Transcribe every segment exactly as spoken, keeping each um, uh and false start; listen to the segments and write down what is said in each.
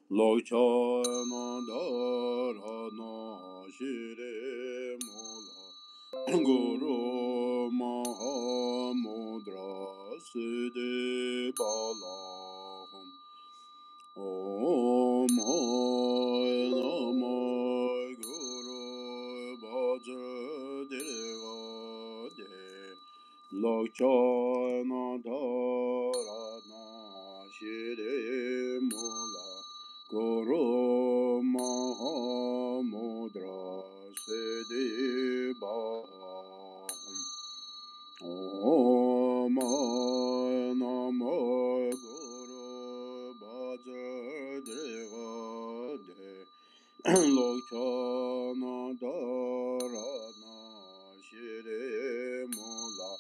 Lochana dharana shire mola Guru Mahamudra Siddhi Balaham Om Hai Namo Guru Bhajadevade Lochana dharana shire mola Guru Mahamudra Siddhi Balaham Om Hai Namo Guru Bhajadevade Lochana dharana shire mola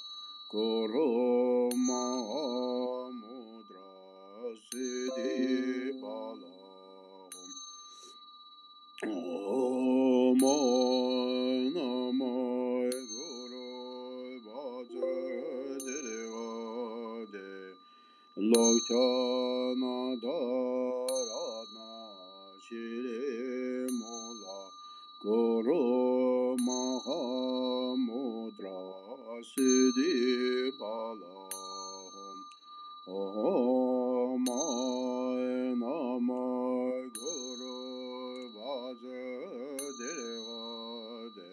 Guru Mahamudra Siddhi Balaham Om Hai Namo Guru Bhajadevade Lochana dharana shire mola Guru Mahamudra Siddhi Balaham Om Hai Namo Guru Bhajadevade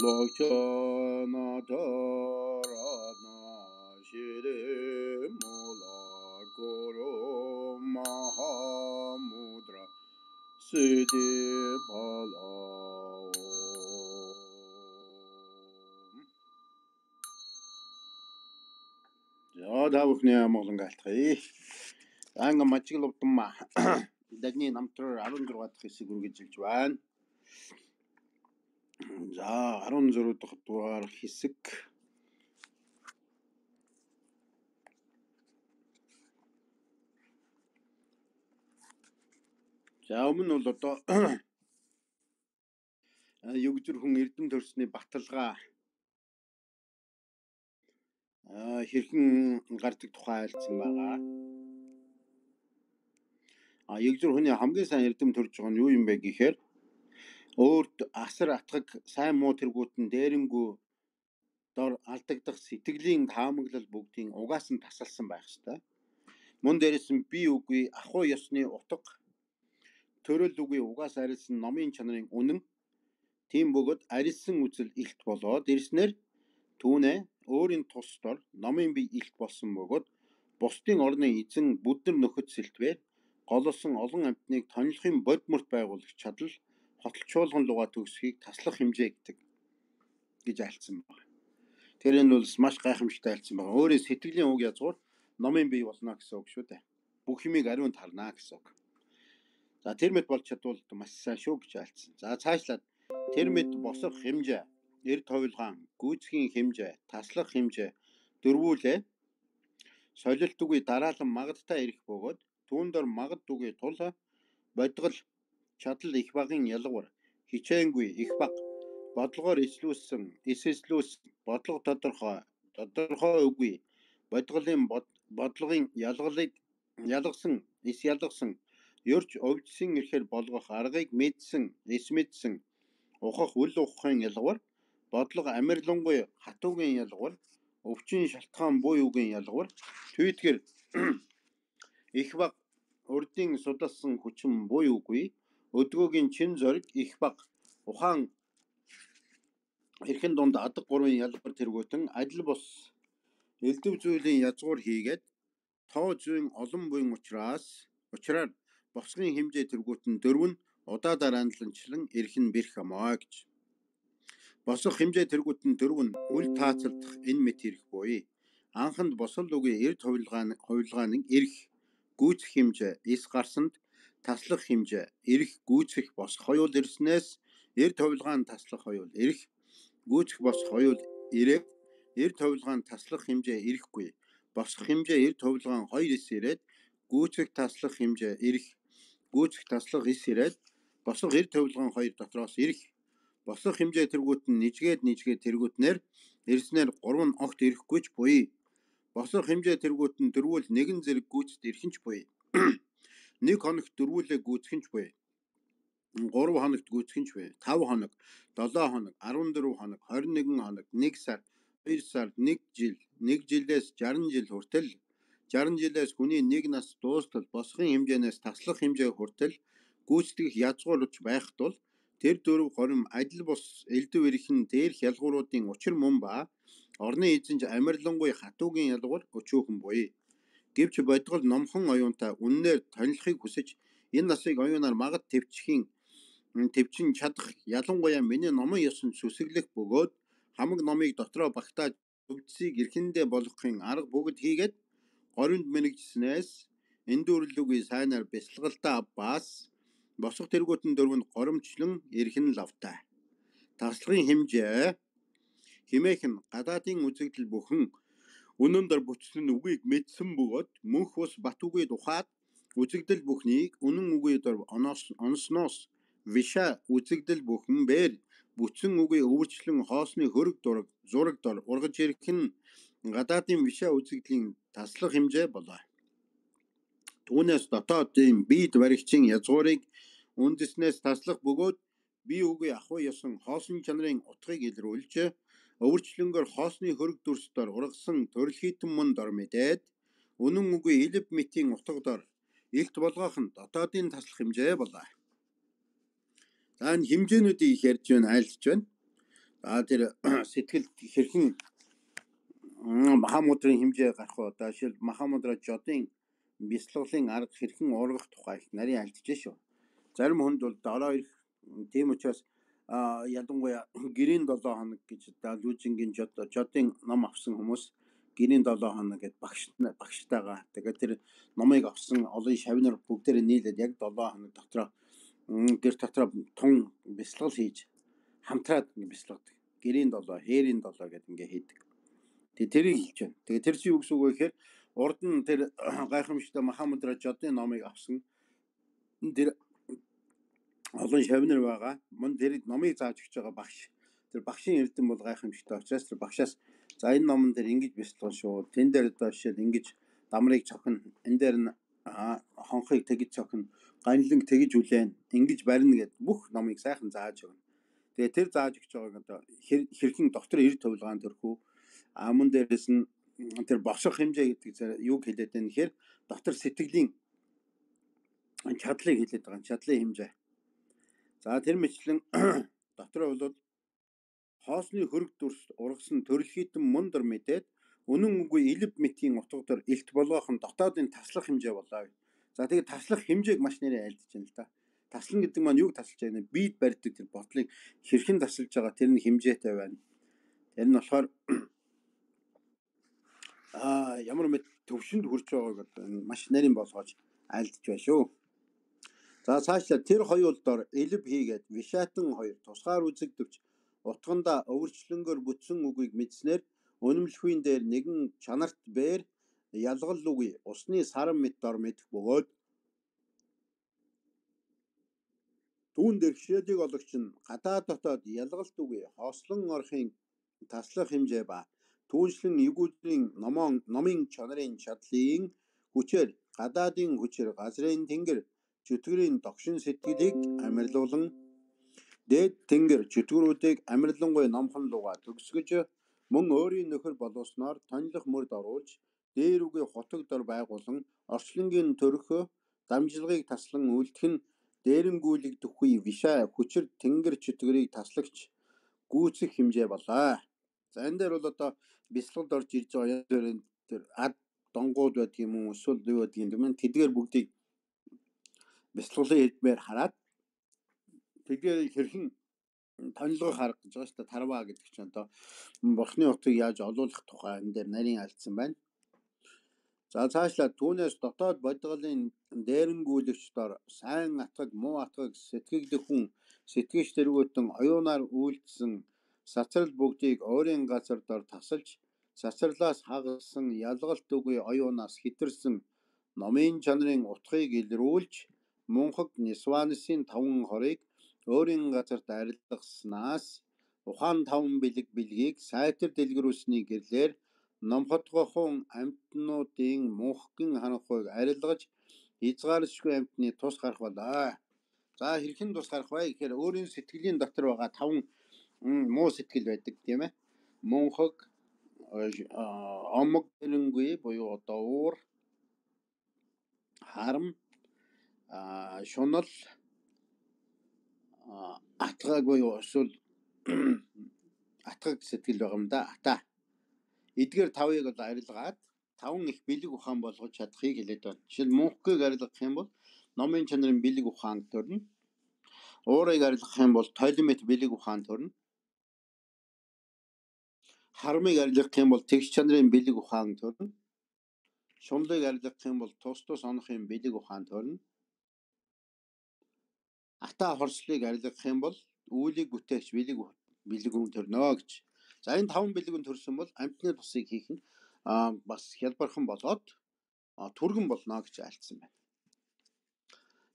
Lochana dharana shire mola Guru Mahamudra Siddhi Balaham. За та бүхний амгалан гаалтгая. Анга мачигловтумма. Дагны намтраар арван зургаадах хэсэг үргэлжилж байна. За арван зургаадах дугаар хэсэг. За өмнө нь бол одоо Югзүр хүн эрдэм төрсний баталгаа хэрхэн гардаг тухай айлцсан байгаа. А Югзүр хүний хамгийн сайн эрдэм төрж байгаа нь юу юм бэ гэхээр өөрт асар атгаг сайн муу тэргүүтэн дээрэнгүү дор алдагдах сэтгэлийн таамаглал бүгдийн угаас нь тасалсан байх ёстой. Мөн дээрээс нь би үгүй ахуй ёсны утга төрөл үгүй угаас арилсан номын чанарын үнэн тийм бөгөөд арилсан үзэл илт болоод ирснээр түүнээ өөрийн тус дор номын бие илт болсон бөгөөд бусдын орны эзэн бүднэр нөхөд сэлтвэр голосон олон амьтныг тонлохын бодморт байгуулагч чадал хотолчуулган лугаа төгсхийг таслах хэмжээ гэдэг гэж айлцсан байна. Тэр энэ бол маш гайхамшигтай айлцсан байна. Өөрийн сэтгэлийн уг язгуур номын бие болно гэсэн үг шүү дээ. Бүх юмыг ариунд харна гэсэн үг. За тэр мэд болж чадвал маш сайн шүү гэж айлцсан. За цаашлаад тэр мэд босох хэмжээ, эрд хувилгаан, гүйцхийн хэмжээ, таслах хэмжээ дөрвүүлээ солилт үгүй дараалан магадтай ирэх бөгөөд түүн дор магад үгүй тул бодгол чадал их багын ялгуур хичээнгүй их баг бодлогоор эслүүлсэн эсэслүүс бодлого тодорхой тодорхой үгүй бодголын бодлогын ялгалыг ялгсан эс ялгсан ерч өвдсөн ирэхээр болгох аргыг мэдсэн эс мэдсэн ухах үл ухахын ялгуур бодлого амирлангуй хатуугийн ялгуур өвчин шалтгаан буй үгийн ялгуур түйтгэр их баг урдын судалсан хүчин буй үгүй өдгөөгийн чин зориг их баг ухаан эрхэн дунд адаг гурван ялгуур тэргүүтэн адил бус элдв зүйлийн язгуур хийгээд тоо зүйн олон буйн учраас учраар босгын хэмжээ тэргүүтэн дөрвөн удаа дараанланчлан эрхэн бэрх амаа гэж. Босох хэмжээ тэргүүтэн дөрвөн үл таацалдах энэ мэт ирэх буй. Анханд босол үгүй эрд хувилгааны хувилгааны эрх гүйцэх хэмжээ эс гарсанд таслах хэмжээ эрх гүйцэх босох хоёул ирснээс эрд хувилгаан таслах хоёул эрх гүйцэх босох хоёул ирээд эрд хувилгаан таслах хэмжээ эрэхгүй. Босох хэмжээ эрд хувилгаан хоёр эс ирээд гүйцэх таслах хэмжээ эрх гүйцэх таслах эс ирээд босох эрд хувилгаан хоёр дотроос эрх босох хэмжээ тэргүүт нь нижгээд нижгээд тэргүүтнэр ирснээр гурван огт ирэхгүйч буй. Босох хэмжээ тэргүүт нь дөрвөл нэгэн зэрэг гүйцэд ирхэнч буй. нэг хоногт дөрвүүлээ гүйцэх нь буй. гурав хоногт гүйцэх нь буй. тав хоног, долоо хоног, арван дөрөв хоног, хорин нэгэн хоног, нэг сар, хоёр сар, нэг жил, нэг жилээс жаран жил хүртэл, жаран жилээс хүний нэг нас дуустал босхын хэмжээнээс таслах хэмжээ хүртэл гүйцэтгэх язгуурч байх тул тэр дөрөв горим адил бус элдв эрхэн дээрх ялгууруудын учир мөн ба орны эзэнж амарлангуй хатуугийн ялгуур өчөөхөн буй. Гэвч бодгол номхон оюунтай үннээр танилцахыг хүсэж энэ насыг оюунаар магад төвчхийн төвчин чадах ялангуяа миний номын ёсонд сүсэглэх бөгөөд хамаг номыг дотроо багтааж өвдсийг эрхэндээ болгохын арга бүгд хийгээд горимд мэрэгжснээс эндүүрлүгүй сайнаар бясалгалтаа авбаас босох тэргүүтэн дөрвөнд горимчлан эрхэн лавтай. Таслагын хэмжээ химээх нь гадаадын үзэгдэл бүхэн үнэн дор бүтсэн үгийг мэдсэн бөгөөд мөнх ус бат үгийг ухаад үзэгдэл бүхнийг үнэн үгийг дор оносноос виша үзэгдэл бүхэн бээр бүтсэн үгийг өвөрчлөн хоосны хөрөг дураг зураг дор ургаж ирэх нь гадаадын виша үзэгдлийн таслах хэмжээ болоо. Түүнээс дотоодын биед баригчийн язгуурыг үндэснээс таслах бөгөөд бие үгүй ахуй ёсон хоосон чанарын утгыг илрүүлж өвөрчлөнгөр хоосны хөрөг дүрс дор ургасан төрөлхитэн мөн дор мэдээд үнэн үгүй элб мэтийн утга дор илт болгоох нь дотоодын таслах хэмжээ болоо. За энэ хэмжээнүүдийг их ярьж байна, айлтж байна. За тэр сэтгэл хэрхэн Махамудрын хэмжээ гарах уу? Одоо жишээл Махамудра жодын бясалгалын арга хэрхэн ургах тухай их нарийн альдж шүү. Зарим хүнд бол дороо ирэх, тийм учраас ялангуяа гэрийн долоо хоног гэж лүүжингийн жод жодын ном авсан хүмүүс гэрийн долоо хоног гэд багш багштайгаа тэгээд тэр номыг авсан олон шавнар бүгдээрээ нийлээд яг долоо хоног дотроо гэр дотроо тун бясалгал хийж хамтраад бясалгадаг. Гэрийн долоо, хээрийн долоо гэд ингээ хийдэг. Тэгээ тэрийг хэлж байна. Тэгээ тэр чинь юу гэсэн үг вэ гэхээр урд нь тэр гайхамшигтай Махамудра жодын номыг авсан тэр олон шавнар байгаа. Мөн тэр номыг зааж өгч байгаа багш. Тэр багшийн эрдэм бол гайхамшигтай учраас тэр багшаас за энэ номон дээр ингэж бясалгал шүү. Тэн дээр одоо жишээл ингэж дамрыг цохино. Энэ дээр нь хонхыг тэгж цохино. Ганланг тэгж үлээн. Ингэж барина гэд бүх номыг сайхан зааж өгнө. Тэгээ тэр зааж өгч байгааг одоо хэрхэн доктор эр төвлгаан төрхүү. А мөн дээрээс нь тэр босох хэмжээ гэдэг юуг хэлээд байна гэхээр дотор сэтгэлийн чадлыг хэлээд байгаа. Чадлын хэмжээ. За тэр мэтлэн дотроо бол хоосны хөрөг дүрс ургасан төрөлхитэн мөн дор мэдээд үнэн үгүй элб мэтийн утга дор илт болгоох нь дотоодын таслах хэмжээ болоо. За тэгээд таслах хэмжээг маш нэрээ айлдж байна л да. Таслан гэдэг маань юуг тасалж байна? Биед барьдаг тэр бодлыг хэрхэн тасалж байгаа тэр нь хэмжээтэй байна. Тэр нь болохоор аа ямар мэд төвшөнд хүрч байгааг маш нарийн болгож айлдж байна шүү. За цаашлаа тэр хоёул дор элб хийгээд вишатан хоёр тусгаар үзэгдэвч утганда өвөрчлөнгөөр бүтсэн үгийг мэдснээр үнэмлэхүйн дээр нэгэн чанарт бээр ялгал үгүй усны саран мэт дор мэдэх бөгөөд түүн дээр хшээдэг ологч нь гадаа дотоод ялгалт үгүй хослон орохын таслах хэмжээ ба түүншлэн эвгүүдрийн номон номын чанарын чадлын хүчээр гадаадын хүчээр газрын тэнгэр чөтгөрийн догшин сэтгэлийг амарлуулан дээд тэнгэр чөтгөрүүдийг амарлангуй номхон луга төгсгөж мөн өөрийн нөхөр боловсноор тонлох мөрд оруулж дээр үгүй хотог дор байгуулан орчлонгийн төрхөө дамжлагыг таслан үлдэх нь дээрэнгүүлэгдэхгүй виша хүчээр тэнгэр чөтгөрийг таслагч гүйцэх хэмжээ болоо. За энэ дээр бол одоо бясалгалд орж ирж байгаа тэр ад донгууд байдаг юм уу эсвэл юу байдаг юм бэ? Тэдгээр бүгдийг бясалгалын хэлбээр хараад тэдгээр хэрхэн тонилгох арга гэж байгаа шүү дээ. Тарва гэдэг чинь одоо бурхны утгыг яаж олуулах тухай энэ дээр нарийн альцсан байна. За цаашлаа түүнээс дотоод бодгалын дээрэнгүүлэгч дор сайн атгаг муу атгаг сэтгэгдэх хүн сэтгэгч тэргүүтэн оюунаар үйлдсэн сацрал бүгдийг өөрийн газар дор тасалж сацралаас хагасан ялгалт үгүй оюунаас хитэрсэн номын чанарын утгыг илрүүлж мунхаг Нисванысын таван хорыг өөрийн газарт арилгаснаас ухаан таван бэлэг бэлгийг сайтар дэлгэрүүлсний гэрлэр номхотгохон амьтнуудын мөнхгэн ханахыг арилгаж Хязгааршгүй амьтны тус гарах болоо. За хэрхэн тус гарах вэ гэхээр өөрийн сэтгэлийн дотор байгаа таван муу сэтгэл байдаг тийм ээ. Мөнхөг, омог тэрэнгүй буюу одоо уур, харам, шунал, атгаг буюу эсвэл атгаг сэтгэл байгаа юм да. Ата. Эдгээр тавыг бол арилгаад таван их бэлэг ухаан болгож чадахыг хэлээд байна. Жишээл мөнхгийг арилгах юм бол номын чанарын бэлэг ухаан төрнө. Уурыг арилгах юм бол толимет бэлэг ухаан төрнө. Харамыг арилгах юм бол тэгш чанарын бэлэг ухаан төрнө. Шунлыг арилгах юм бол тус тус онохын бэлэг ухаан төрнө. Ата хорслыг арилгах юм бол үүлийг бүтээгч бэлэг бэлэг хүн төрнө гэж. За энэ таван бэлэг хүн төрсөн бол амьтны тусыг хийх нь бас хялбархан болоод түргэн болно гэж альцсан байна.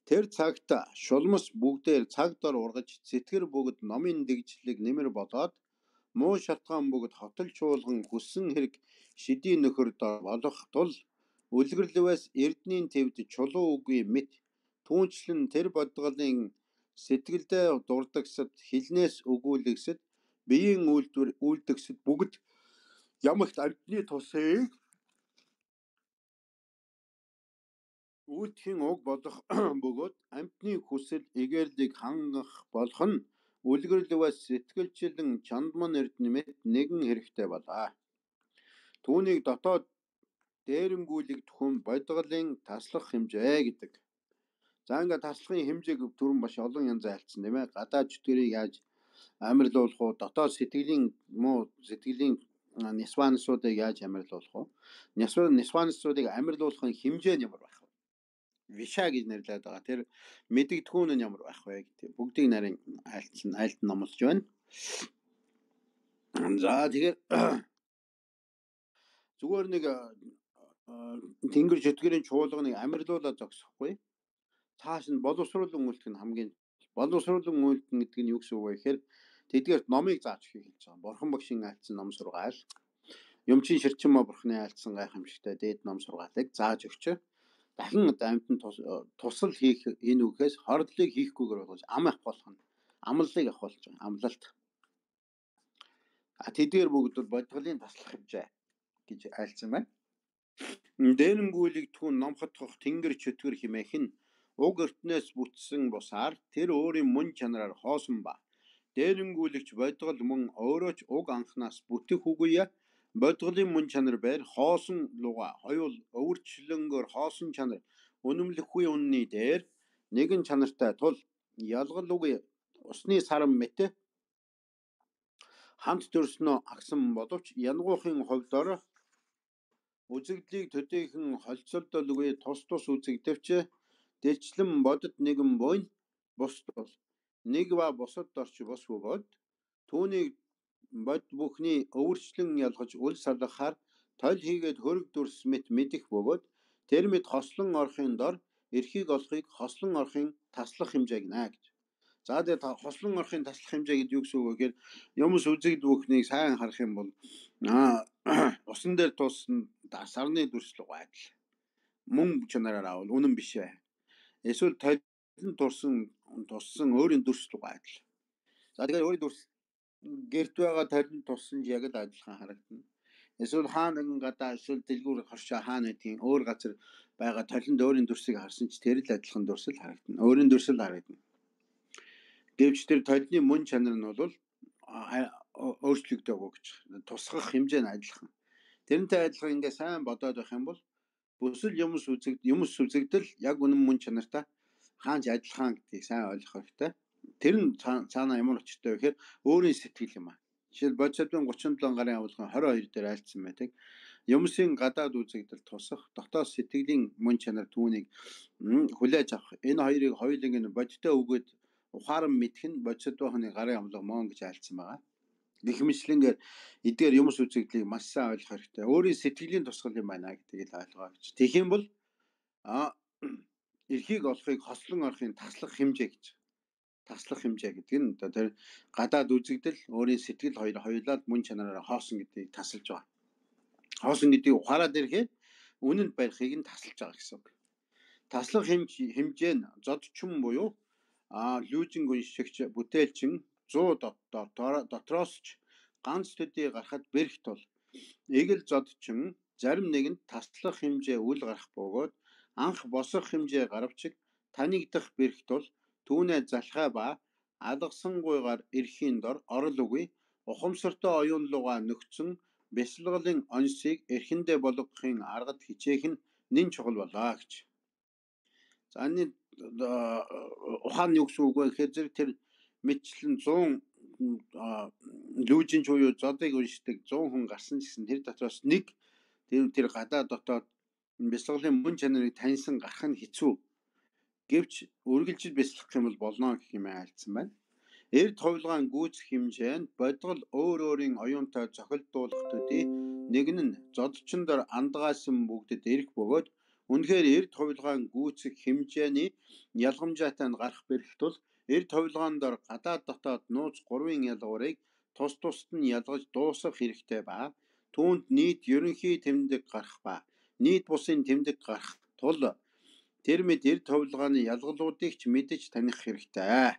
Тэр цагт шулмас бүгдээр цаг дор ургаж сэтгэр бүгд номын дэгжлийг нэмэр болоод муу шалтгаан бүгд хотол чуулган хүссэн хэрэг шидийн нөхөр дор болох тул үлгэрлэвээс эрдний төвд чулуу үгүй мэт түүнчлэн тэр бодголын сэтгэлдээ дурдагсад хилнээс өгүүлэгсэд биеийн үйлдвэр үйлдэгсэд бүгд ямагт амьтны тусыг үйлдэхийн уг болох бөгөөд амьтны хүсэл эгээрлийг хангах болох нь үлгэрлэвээс сэтгэлчлэн чандман эрднэмэт нэгэн хэрэгтэй болоо. Түүнийг дотоод дээрэнгүүлэгдэх хүн бодголын таслах хэмжээ гэдэг. За ингээд таслахын хэмжээг түрүүн маш олон янз айлцсан тийм ээ. Гадаад зүтгэрийг яаж амарлуулах уу, дотоод сэтгэлийн муу сэтгэлийн нисвансуудыг яаж амарлуулах уу? Нисвансуудыг амарлуулахын хэмжээ нь ямар байх вэ? Виша гэж нэрлэдэг байгаа. Тэр мэдэгдэхүүн нь ямар байх вэ гэдэг. Бүгдийг нарийн айлцсан, айлд номлож байна. За тэгэхээр зүгээр нэг тэнгэр зүтгэрийн чуулганыг амарлуулаад зогсохгүй. Цааш нь боловсруулан үйлдэх нь хамгийн боловсруулан үйлдэх гэдэг нь юу гэсэн үг вэ гэхээр тэдгээрт номыг зааж өгөхийг хэлж байгаа. Бурхан багшийн айлцсан ном сургаал, Юмчин Ширчинмаа бурхны айлцсан гайхамшигтай дээд ном сургаалыг зааж өгч дахин одоо амьтанд тусал хийх энэ үгээс хорлолыг хийхгүйгээр болгож ам авах болох нь амлалыг авах болж байгаа. Амлалт. А тэдгээр бүгд бол бодголын таслах хэмжээ гэж айлцсан байна. Дээрэнгүүлэгдэхүүн ном хотгох тэнгэр чөтгөр хэмээх нь уг ертнээс бүтсэн бусаар тэр өөрийн мөн чанараар хоосон ба дээрэнгүүлэгч бодгол мөн өөрөө ч уг анхнаас бүтэх үгүй бодголын мөн чанар байр хоосон луга хоёул өвөрчлөнгөөр хоосон чанар үнэмлэхгүй үнний дээр нэгэн чанартай тул ялгал үгүй усны сарам мэт хамт төрснөө агсан боловч янгуухын хувьдор үзэгдлийг төдийхөн холцолдолгүй тус тус үзэгдэвч дэрчлэн бодит нэгэн буйн бус бол нэг ба бусад орч бус бөгөөд түүнийг бод бүхний өвөрчлөн ялгаж үл салгахаар тойл хийгээд хөрөг дүрс мэт мэдэх бөгөөд тэр мэд хослон орохын дор эрхийг олохыг хослон орохын таслах хэмжээ гинэ гэж. За тэгээд хослон орохын таслах хэмжээ гэдэг юу гэсэн үг вэ гэхээр юмс үзэгд бүхнийг сайн харах юм бол усан дээр туусан сарны дүрслэг байдал мөн чанараар авал үнэн биш ээ. Эсвэл толин турсан туссан өөрийн дүрслэг байдал. За тэгээд өөрийн дүрс гэрт байгаа толин туссан яг л адилхан харагдана. Эсвэл хаана нэгэн гадаа эсвэл дэлгүүр хоршоо хаана гэдгийг өөр газар байгаа толинд өөрийн дүрсийг харсан ч тэр л адилхан дүрсэл харагдана. Өөрийн дүрсэл харагдана. Гэвч тэр толины мөн чанар нь бол өөрчлөгдөөг гэж тусгах хэмжээ нь адилхан. Тэрнтэй адилхан ингээ сайн бодоод байх юм бол бүсэл юмс үзэгд юмс үзэгдэл яг үнэн мөн чанартай хаанч адилхан гэдгийг сайн ойлгох хэрэгтэй. Тэр нь цаана ямар очтой вэ гэхээр өөрийн сэтгэл юм аа. Жишээл бодисодын гучин долоо гарын авалгын хорин хоёр дээр айлцсан байдаг. Юмсын гадаад үзэгдэл тусах, дотоод сэтгэлийн мөн чанар түүнийг хүлээж авах. Энэ хоёрыг хоёуланг нь бодиттой үгээд ухаан мэдэх нь бодисодын гарын авалга мөн гэж айлцсан байгаа. Гэх мэтлэнгээр эдгээр юмс үзэгдлийг маш сайн ойлгох хэрэгтэй. Өөрийн сэтгэлийн тусгал юм байна гэдгийг л ойлгоо гэж. Тэгэх юм бол а эрхийг олохыг хослон орохын таслах хэмжээ гэж. Таслах хэмжээ гэдэг нь одоо тэр гадаад үзэгдэл өөрийн сэтгэл хоёр хоёулаад мөн чанараараа хоосон гэдгийг тасалж байгаа. Хоосон гэдгийг ухаарад ирэхэд үнэнд барихыг нь тасалж байгаа гэсэн үг. таслах хэмжээ нь зодчин буюу а лүүжинг уншигч бүтээлчин зуун дотроос ч ганц төдий гарахад бэрх тул эгэл зодчин зарим нэгэнд таслах хэмжээ үл гарах бөгөөд анх босох хэмжээ гаравчиг танигдах бэрх тул түүнээ залхай ба алгасангуйгаар эрхийн дор орол үгүй ухамсартай оюун луга нөхцөн бясалгалын онцыг эрхэндээ болгохын аргад хичээх нь нэн чухал болоо гэж. За энэ ухаан юу гэсэн үг вэ гэхээр зэрэг тэр мэдчлэн зуун лүүжин буюу зодыг уншдаг зуун хүн гарсан гэсэн тэр дотроос нэг тэр тэр гадаа дотоод бясалгалын мөн чанарыг таньсан гарах нь хэцүү. Гэвч үргэлжил бясалгах юм бол болно гэх юм айлцсан байна. Эрд хувилгаан гүйцэх хэмжээ нь бодгол өөр өөрийн оюунтай зохилдуулах төдий нэг нь зодчин дор андгаасан бүгдэд эрх бөгөөд үнэхээр эрд хувилгаан гүйцэх хэмжээний ялгамжаатай нь гарах бэрх тул эрд хувилгаан дор гадаад дотоод нууц гурвын ялгуурыг тус тусад нь ялгаж дуусгах хэрэгтэй ба түүнд нийт ерөнхий тэмдэг гарах ба нийт бусын тэмдэг гарах тул тэр мэд эрд хувилгааны ялгалуудыг ч мэдэж таних хэрэгтэй.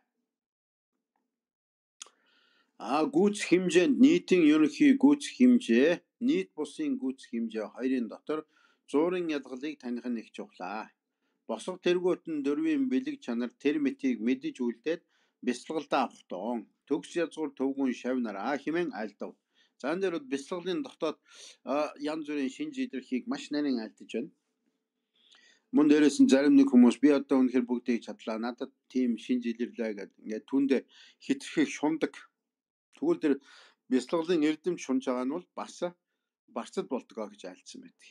А гүйцэх хэмжээнд нийтийн ерөнхий гүйцэх хэмжээ, нийт бусын гүйцэх хэмжээ хоёрын дотор зуурын ялгалыг таних нь их чухлаа. Босго тэргүүт нь дөрвийн бэлэг чанар тэр мэтийг мэдэж үлдээд бясалгалдаа авах тоон. Төгс язгуур төвгүн шавнараа хэмээн айлдав. За энэ дээр бясалгалын дотоод янз бүрийн шинж илэрхийг маш нарийн айлдаж байна. Мөн дээрээс нь зарим нэг хүмүүс би одоо үнэхээр бүгдийг чадлаа. Надад тийм шинж илэрлээ гэдэг ингээд түүндээ хитрхийг шундаг. Тэгвэл тэр бясалгалын эрдэмж шунж байгаа нь бол бас барцад болдгоо гэж айлдсан байдаг.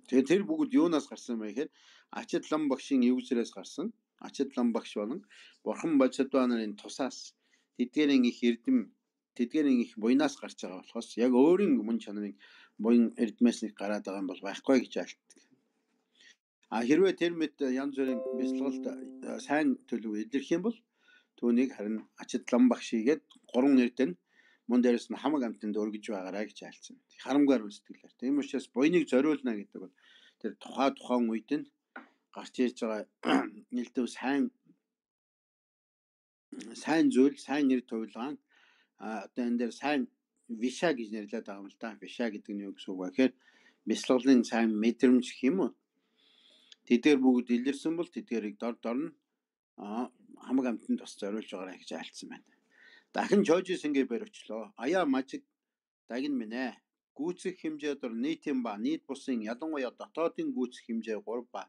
Тэгэхээр тэр бүгд юунаас гарсан бэ гэхээр Ачид лам багшийн эвсрээс гарсан. Ачид лам багш болон Бурхан Божидва нарын тусаас тэдгээрийн их эрдэм, тэдгээрийн их буйнаас гарч байгаа болохоос яг өөрийн мөн чанарыг буян эрдмээс нэг гараад байгаа юм бол байхгүй гэж айлтдаг. А хэрвээ тэр мэд янз бүрийн бясалгалд сайн төлөв илэрх юм бол түүнийг харин Ачид лам багш хийгээд гурван эрдэн мөн дээрээс нь хамаг амтанд өргөж байгаарай гэж айлцсан. Харамгаар үлсэтгэлээр. Тийм учраас буйныг зориулна гэдэг бол тэр тухай тухайн үед нь гарч ирж байгаа нэлээд сайн сайн зүйл, сайн нэр төвлөгөн одоо энэ дээр сайн виша гэж нэрлэдэг байгаа юм л да. Виша гэдэг нь юу гэсэн үг вэ гэхээр бясалгалын сайн мэдрэмж гэх юм уу? Тэдгээр бүгд илэрсэн бол тэдгээрийг дор дор нь хамаг амтанд бас зориулж байгаарай гэж айлцсан байна. Дахин чойжис ингээ барьвчлоо. Аяа мажиг дагин минь ээ. Гүйцэх хэмжээ дор нийтийн ба нийт бусын ялангуяа дотоодын гүйцэх хэмжээ гурав ба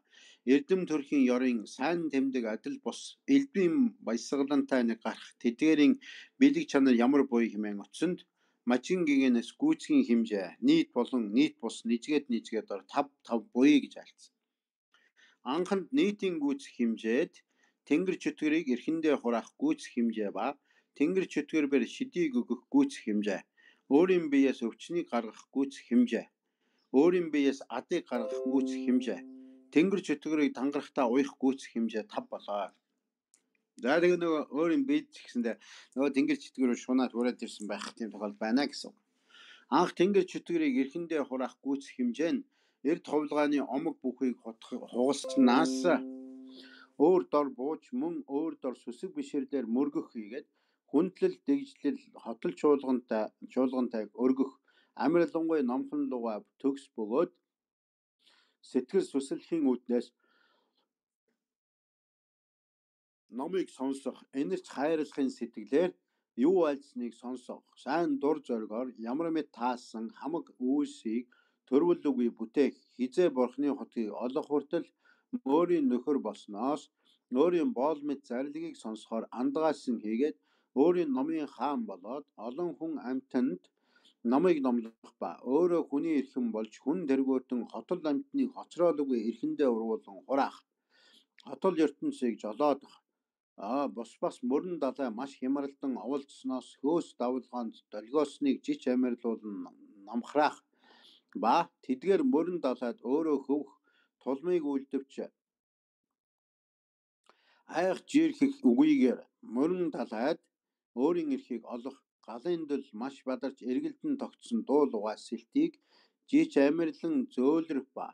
эрдэм төрхийн ёрын сайн тэмдэг адил бус элбийн баясгалантай нэг гарах тэдгээрийн бэлэг чанар ямар буй хэмээн утсанд мажин гигэнэс гүйцхийн хэмжээ нийт болон нийт бус нэжгээд нэжгээд дор тав тав буй гэж айлцсан. Анханд нийтийн гүйцэх хэмжээд тэнгэр чөтгөрийг эрхэндээ хураах гүйцэх хэмжээ ба тэнгэр чөтгөрбөр шидийг өгөх гүйцэх хэмжээ, өөрийн биеэс өвчнийг гаргах гүйцэх хэмжээ, өөрийн биеэс адыг гаргах гүйцэх хэмжээ, тэнгэр чөтгөрийг тангарахтаа уях гүйцэх хэмжээ тав болоо. За тэгээ нөгөө өөрийн биед ч гэсэндээ нөгөө тэнгэр чөтгөрөөр шунаад хүрээд ирсэн байх тийм тохиол байна гэсэн. Анх тэнгэр чөтгөрийг эрхэндээ хураах гүйцэх хэмжээ нь эрд хувилгааны омог бүхийг хугалснаас өөр дор бууж мөн өөр дор сүсэг биширлэр мөргөх хийгээд хүндлэл дэгжлэл хотол чуулгантай чуулгантайг өргөх амирлангуй номхон луга төгс бөгөөд сэтгэл сүсэлхийн үүднээс номыг сонсох энэрч хайрлахын сэтгэлээр юу альцныг сонсох сайн дур зоригоор ямар мэд таасан хамаг үйлсийг төрвөл үгүй бүтээх хизээ бурхны хотыг олох хүртэл өөрийн нөхөр болсноос өөрийн боол мэд зарилгийг сонсохоор андгаасан хийгээд өөрийн номын хаан болоод олон хүн амьтанд номыг номлох ба өөрөө хүний эрхэм болж хүн тэргүүтэн хотол амьтныг хоцроолгүй эрхэндээ ургуулan хураах хотол ертөнцийг жолоодох а бос бас мөрөн далай маш хямралдан оволцсноос хөөс давлгаанд долгионыг жич амьрлуулан номхраах ба тэдгээр мөрөн далайд өөрөө хөвөх тулмыг үлдэвч айх жирхэх үгүйгээр мөрөн далайд өөрийн эрхийг олох галын дэл маш бадарч эргэлдэн тогтсон дуу лугаа сэлтийг жич амьрлан зөөлрөх ба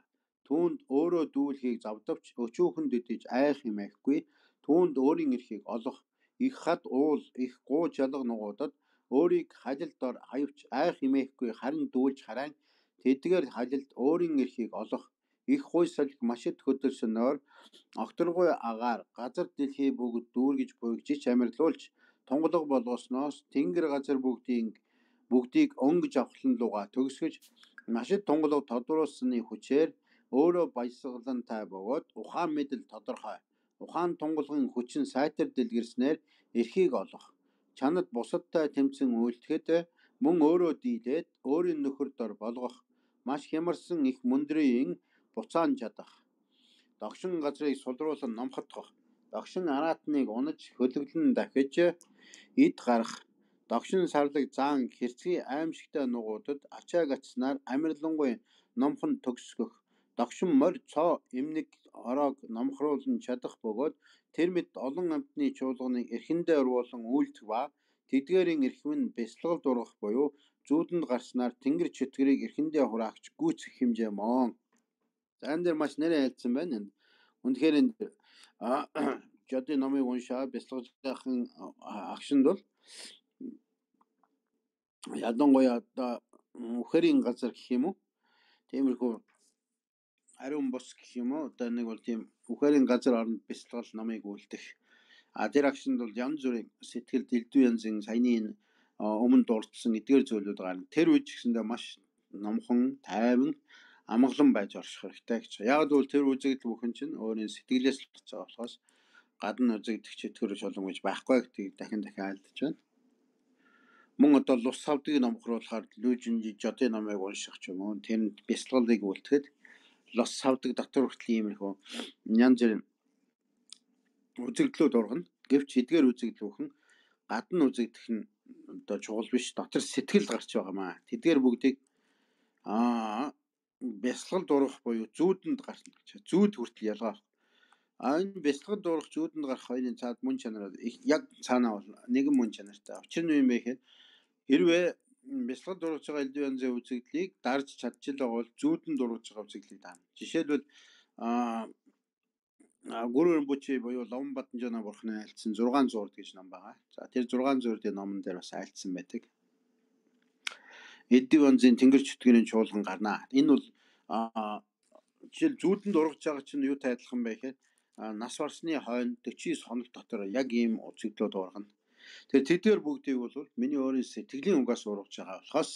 Түүнд өөрөө дүүлхийг завдавч өчүүхэн дэдэж айх юм айхгүй. Түүнд өөрийн эрхийг олох их хад уул их гуу жалга нугуудад өөрийг халилдор хавьч айх юм айхгүй харин дүүлж хараа. Тэдгээр халилд өөрийн эрхийг олох их хуй салхи машид хөдөлсөн нойр огторгой агаар газар дэлхий бүгд дүүргэж буйгжиж амьрлуулж тунгалаг болгосноос тэнгэр газар бүгдийн бүгдийг онгож авахлан луга төгсгөж машид тунгалаг тодруулсны хүчээр өөрөө баясгалантай бөгөөд ухаан мэдэл тодорхой. Ухаан тунгалгын хүчин сайтар дэлгэрснээр эрхийг олох. Чанад бусадтай тэмцэн үйлдэхэд мөн өөрөө дийлээд өөрийн нөхөр дор болгох. Маш хямарсан их мөндрийн буцаан чадах. Догшин газрыг сулруулан номхотгох. Догшин араатныг унаж хөлөглөн дахиж эд гарах. Догшин сарлаг заан хэрцгий аимшигтай нугуудад ачааг ачснаар амирлангуй номхон төгсгөх. Догшин морь цоо эмнэг ороог номхруулан чадах бөгөөд тэр мэд олон амтны чуулганыг эрхэндээ оруулан үйлдэх ба тэдгээрийн эрхмэн бясалгал дургах буюу зүүдэнд гарснаар тэнгэр чөтгөрийг эрхэндээ хураагч гүйцэх хэмжээ моон. За энэ дээр маш нэрээ айлцсан байна. Үнэхээр энэ Жодын номыг уншаад бясалгаж байхын агшинд бол ялангуяа одоо үхэрийн газар гэх юм уу? Тиймэрхүү ариун бус гэх юм уу? Одоо нэг бол тийм үхэрийн газар оронд бясалгал номыг үлдэх. А тэр агшинд бол янз бүрийн сэтгэл дэлдүү янзын саяны өмнө дурдсан эдгээр зүйлүүд гарна. Тэр үеч гэсэндээ маш номхон, тайван, амгалан байж орших хэрэгтэй гэж. Яг л тэр үзэгдэл бүхэн чинь өөрийн сэтгэлээс л болж байгаа болохоос гадна үзэгдэх чөтгөр шолон гэж байхгүй гэдгийг дахин дахин айлдаж байна. Мөн одоо лус савдгийг номхруулахаар Лүжинжи Жодын номыг унших ч юм уу, тэнд бясалгалыг үлдэхэд лус савдаг дотор хүртэл иймэрхүү янз бүрийн үзэгдлүүд ургана. Гэвч эдгээр үзэгдэл бүхэн гадна үзэгдэх нь одоо чухал биш, дотор сэтгэл гарч байгаамаа. Тэдгээр бүгдийг аа бясалгал дургах буюу зүүдэнд гарна гэж. Зүүд хүртэл ялгаа. А энэ бясалгал дургах, зүүдэнд гарах хоёрын цаад мөн чанар яг цаанаа бол нэгэн мөн чанартай. Учир нь юм бэ гэхээр хэрвээ бясалгал дургаж байгаа элдв янзын үзэгдлийг дарж чадчихлаа бол зүүдэнд дургаж байгаа үзэгдлийг даана. Жишээлбэл аа Гүрэн Бүчи буюу Ловон Баданжаана бурхны айлцсан зургаан зурд гэж ном байгаа. За тэр зургаан зурдын номон дээр бас айлцсан байдаг. Элдв янзын тэнгэр чөтгөрийн чуулган гарнаа. Энэ бол жишээл зүүдэнд ургаж байгаа чинь юутай адилхан бэ гэхээр нас барсны хойно дөрвөн хоног дотор яг ийм үзэгдлүүд ургана. Тэр тэдгээр бүгдийг бол миний өөрийн сэтгэлийн угаас ургаж байгаа болохоос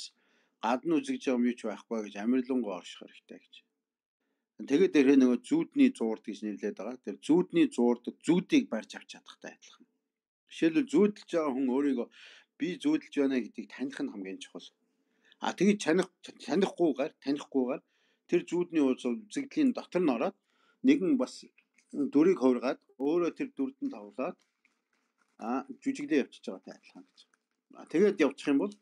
гадна үзэгж байгаа юм юу ч байхгүй гэж амирлангуй орших хэрэгтэй гэж. Тэгээд тэр нөгөө зүүдний зуурд гэж нэрлэдэг байгаа. Тэр зүүдний зуурд зүүдийг барьж авч чадахтай адилхан. Жишээлбэл зүүдэлж байгаа хүн өөрийгөө би зүүдэлж байна гэдгийг таних нь хамгийн чухал. А тэгээд таних танихгүйгээр танихгүйгээр тэр зүүдний үзэгдлийн дотор нь ороод нэгэн бас дүрийг хувиргаад өөрөө тэр дүрдэн тоглоод а жүжиглээ явчихж байгаатай адилхан гэж. А тэгээд явчих юм бол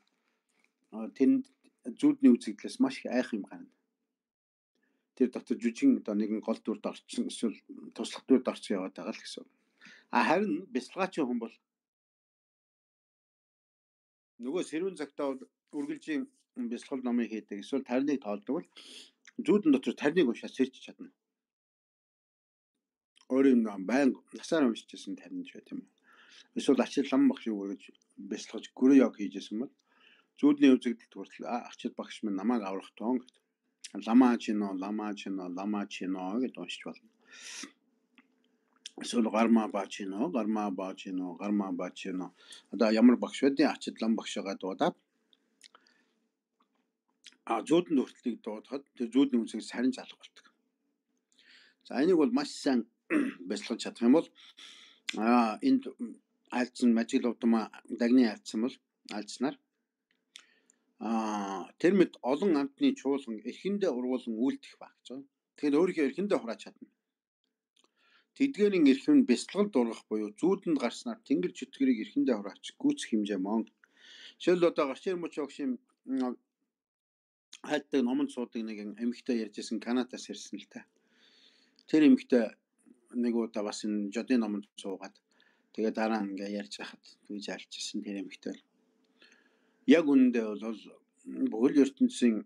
тэнд зүүдний үзэгдлээс маш их айх юм гарна. Тэр дотор жүжигэн одоо нэгэн гол дүрд орчихсон эсвэл туслах дүрд орчих яваад байгаа л гэсэн. А харин бясалгаачин хүн бол нөгөө сэрүүн цагтаа үргэлжийн бясалгал номыг хийдэг эсвэл тарныг тоолдог бол зүүдэн дотор тарныг уншаад сэрч чадна. Өөрийн байнга насаар уншижсэн тарин ч байт юм. Эсвэл ачил лам багш үргэж бясалгаж гүрэн яг хийжсэн бол зүүдний үзэгдэлд хүртэл ачил багш минь намайг аврах тоон гэдэг. Лама чино, лама чино, лама чино гэдээ уншиж болно. Эсвэл гарма бачино, гарма бачино, гарма бачино. Одоо ямар багш байдیں ачил лам багшгаа дуудаад а зүүдэнд хүртэлийг дуудахад тэр зүүдний үзэг сарин залах болдог. За энийг бол маш сайн бясалгаж чадах юм бол а энд айлцсан мажиг лувдмаа дагны айлцсан бол айлцснаар а тэр мэд олон амтны чуулган эрхэндээ ургуулсан үйлдэх баг гэж байна. Тэгэхээр өөрийнхөө эрхэндээ хурааж чадна. Тэдгээрийн эрх нь бясалгал дургах буюу зүүдэнд гарснаар тэнгэр чөтгөрийг эрхэндээ хураач гүйцэх хэмжээ мөн. Жишээл одоо Гарчээр Муч огшийн хайртай номонд суудаг нэг эмэгтэй ярьжсэн Канадаас ирсэн л та. Тэр эмэгтэй нэг удаа бас энэ Жодын номонд суугаад тэгээ дараа ингээ ярьж байхад тэгж альчсан тэр эмэгтэй. Яг үүндээ бол бүхэл ертөнцийн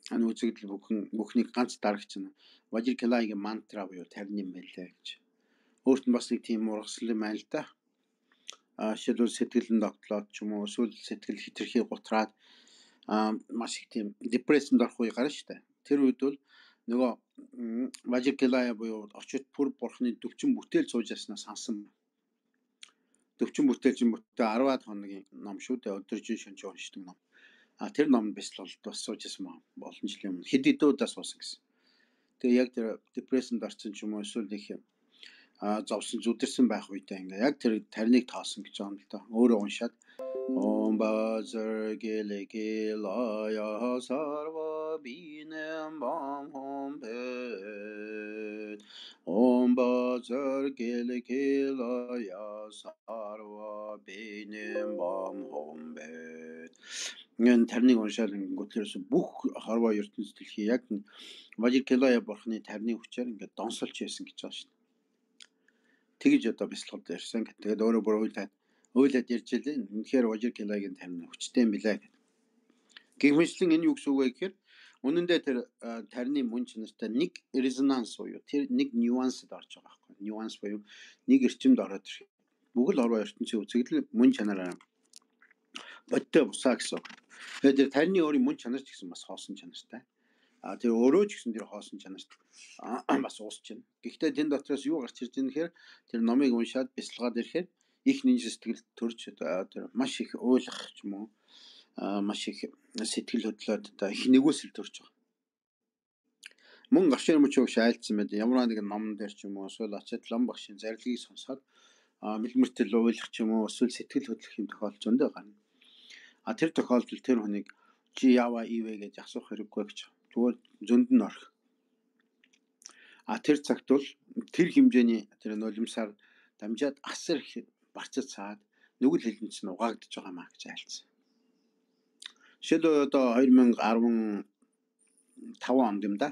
аны үзэгдэл бүхэн бүхнийг ганц дарагч нь Важиркилайгийн мантра буюу тарин юм байлаа гэж. Өөрт нь бас нэг тийм ургасал юм байна л да. А шилбэл сэтгэл нь тогтлоод ч юм уу эсвэл сэтгэл хитрхи гутраад а маш их тийм депрессэнд орох үе гарна шүү дээ. Тэр үед бол нөгөө Важиркилай буюу очит пүр бурхны төвчин бүтээл сууж яснаа сансан. Төвчин бүтээлчин бүтээ арваад хоногийн ном шүү дээ. Өдөржин шөнж уншдаг ном. А тэр номд бясалгал бас сууж ясан олон жилийн өмнө хэд хэдэн удаа суусан гэсэн. Тэгээ яг тэр депрессэнд орсон ч юм уу эсвэл их а зовсон зүдэрсэн байх үедээ ингээ яг тэр тариныг тоосон гэж байгаа юм л да. Өөрөө уншаад Om Bajra Gele Gelaya Sarva Binem Bam Hom Pet Om Bajra Gele Gelaya Sarva Binem Bam Hom Pet Нэн тарныг уншаад ингээд тэрс бүх хорвоо ертөнцийн дэлхий яг Важиркилай бурхны тарны хүчээр ингээд донсолж яасан гэж байгаа шүү дээ. Тэгж одоо бясалгалд ярьсан гэдэг. Тэгээд өөрөө бүр ойлаад ойлаад ярьж илээ. Үнэхээр Важиркилайгийн тарны хүчтэй юм билээ гэдэг. Гэмшлэн энэ юу гэсэн үг вэ гэхээр үнэн дээр тэр тарны мөн чанартай нэг резонанс буюу тэр нэг нюансд орж байгаа байхгүй. Нюанс буюу нэг эрчимд ороод ирэх. Бүгд л хорвоо ертөнцийн үзэгдэл мөн чанараа бодтой бусаа гэсэн. Тэгээд тэр тарны өөрийн мөн чанар ч гэсэн бас хоосон чанартай. А тэр өөрөө ч гэсэн тэр хоосон чанарт бас уусч байна. Гэхдээ тэн дотроос юу гарч ирж байгаа нэхэр тэр номыг уншаад бясалгаад ирэхээр их нинж сэтгэл төрж тэр маш их ойлгох ч юм уу маш их сэтгэл хөдлөлд одоо их нэгүсэл төрж байгаа. Мөн гашир мөч өгш айлцсан байд. Ямар нэгэн ном дээр ч юм уу эсвэл ачаад лам багшийн зарилгыг сонсоод мэлмэртэл ойлгох ч юм уу эсвэл сэтгэл хөдлөх юм тохиолдол зөндөө гарна. А тэр тохиолдолд тэр хүнийг чи яава ивэ гэж асуух хэрэггүй гэж. Зүгээр зөнд нь орох. А тэр цагт бол тэр хэмжээний тэр нулимсаар дамжаад асар их барцаж цаад нүгэл хилэнч нь угаагдж байгаа маа гэж айлцсан. Жишээлбэл одоо two thousand five онд юм да.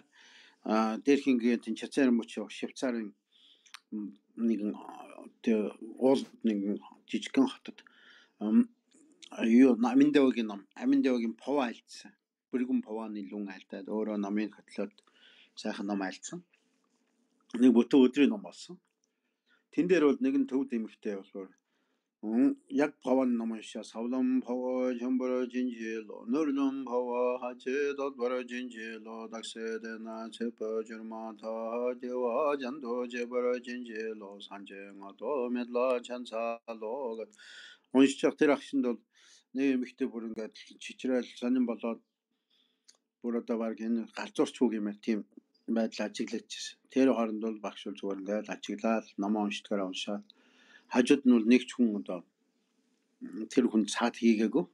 А дээрхингийн тэн Чацаар мөч Швейцарын нэгэн тэр уул нэгэн жижигхэн хотод юу Аминдавагийн ном, Аминдавагийн Пова айлцсан. Бүргэн Пованы лүн айлтаад өөрөө номын хөтлөөд сайхан ном айлцсан. Нэг бүтэн өдрийн ном болсон. Тэн дээр бол нэгэн төвд эмэгтэй болохоор яг Пованы ном уншаа савлам Пова жамбара жинжил нөрлөм Пова хачэдод бара жинжило дакседена чепа журмата дева жан도 제바라 жинжило санжэнгато медла чансало уншчих тэр агшинд бол нэг эмэгтэй бүр ингээд чичрээл сонин болоод бүр одоо баг энэ галзуурч үг юм аа тийм байдал ажиглагдчихсэн. Тэр хооронд бол багш бол зүгээр ингээд ажиглаад номоо уншдагаараа уншаад хажууд нь бол нэг ч хүн одоо тэр хүн цаад хийгээгүй.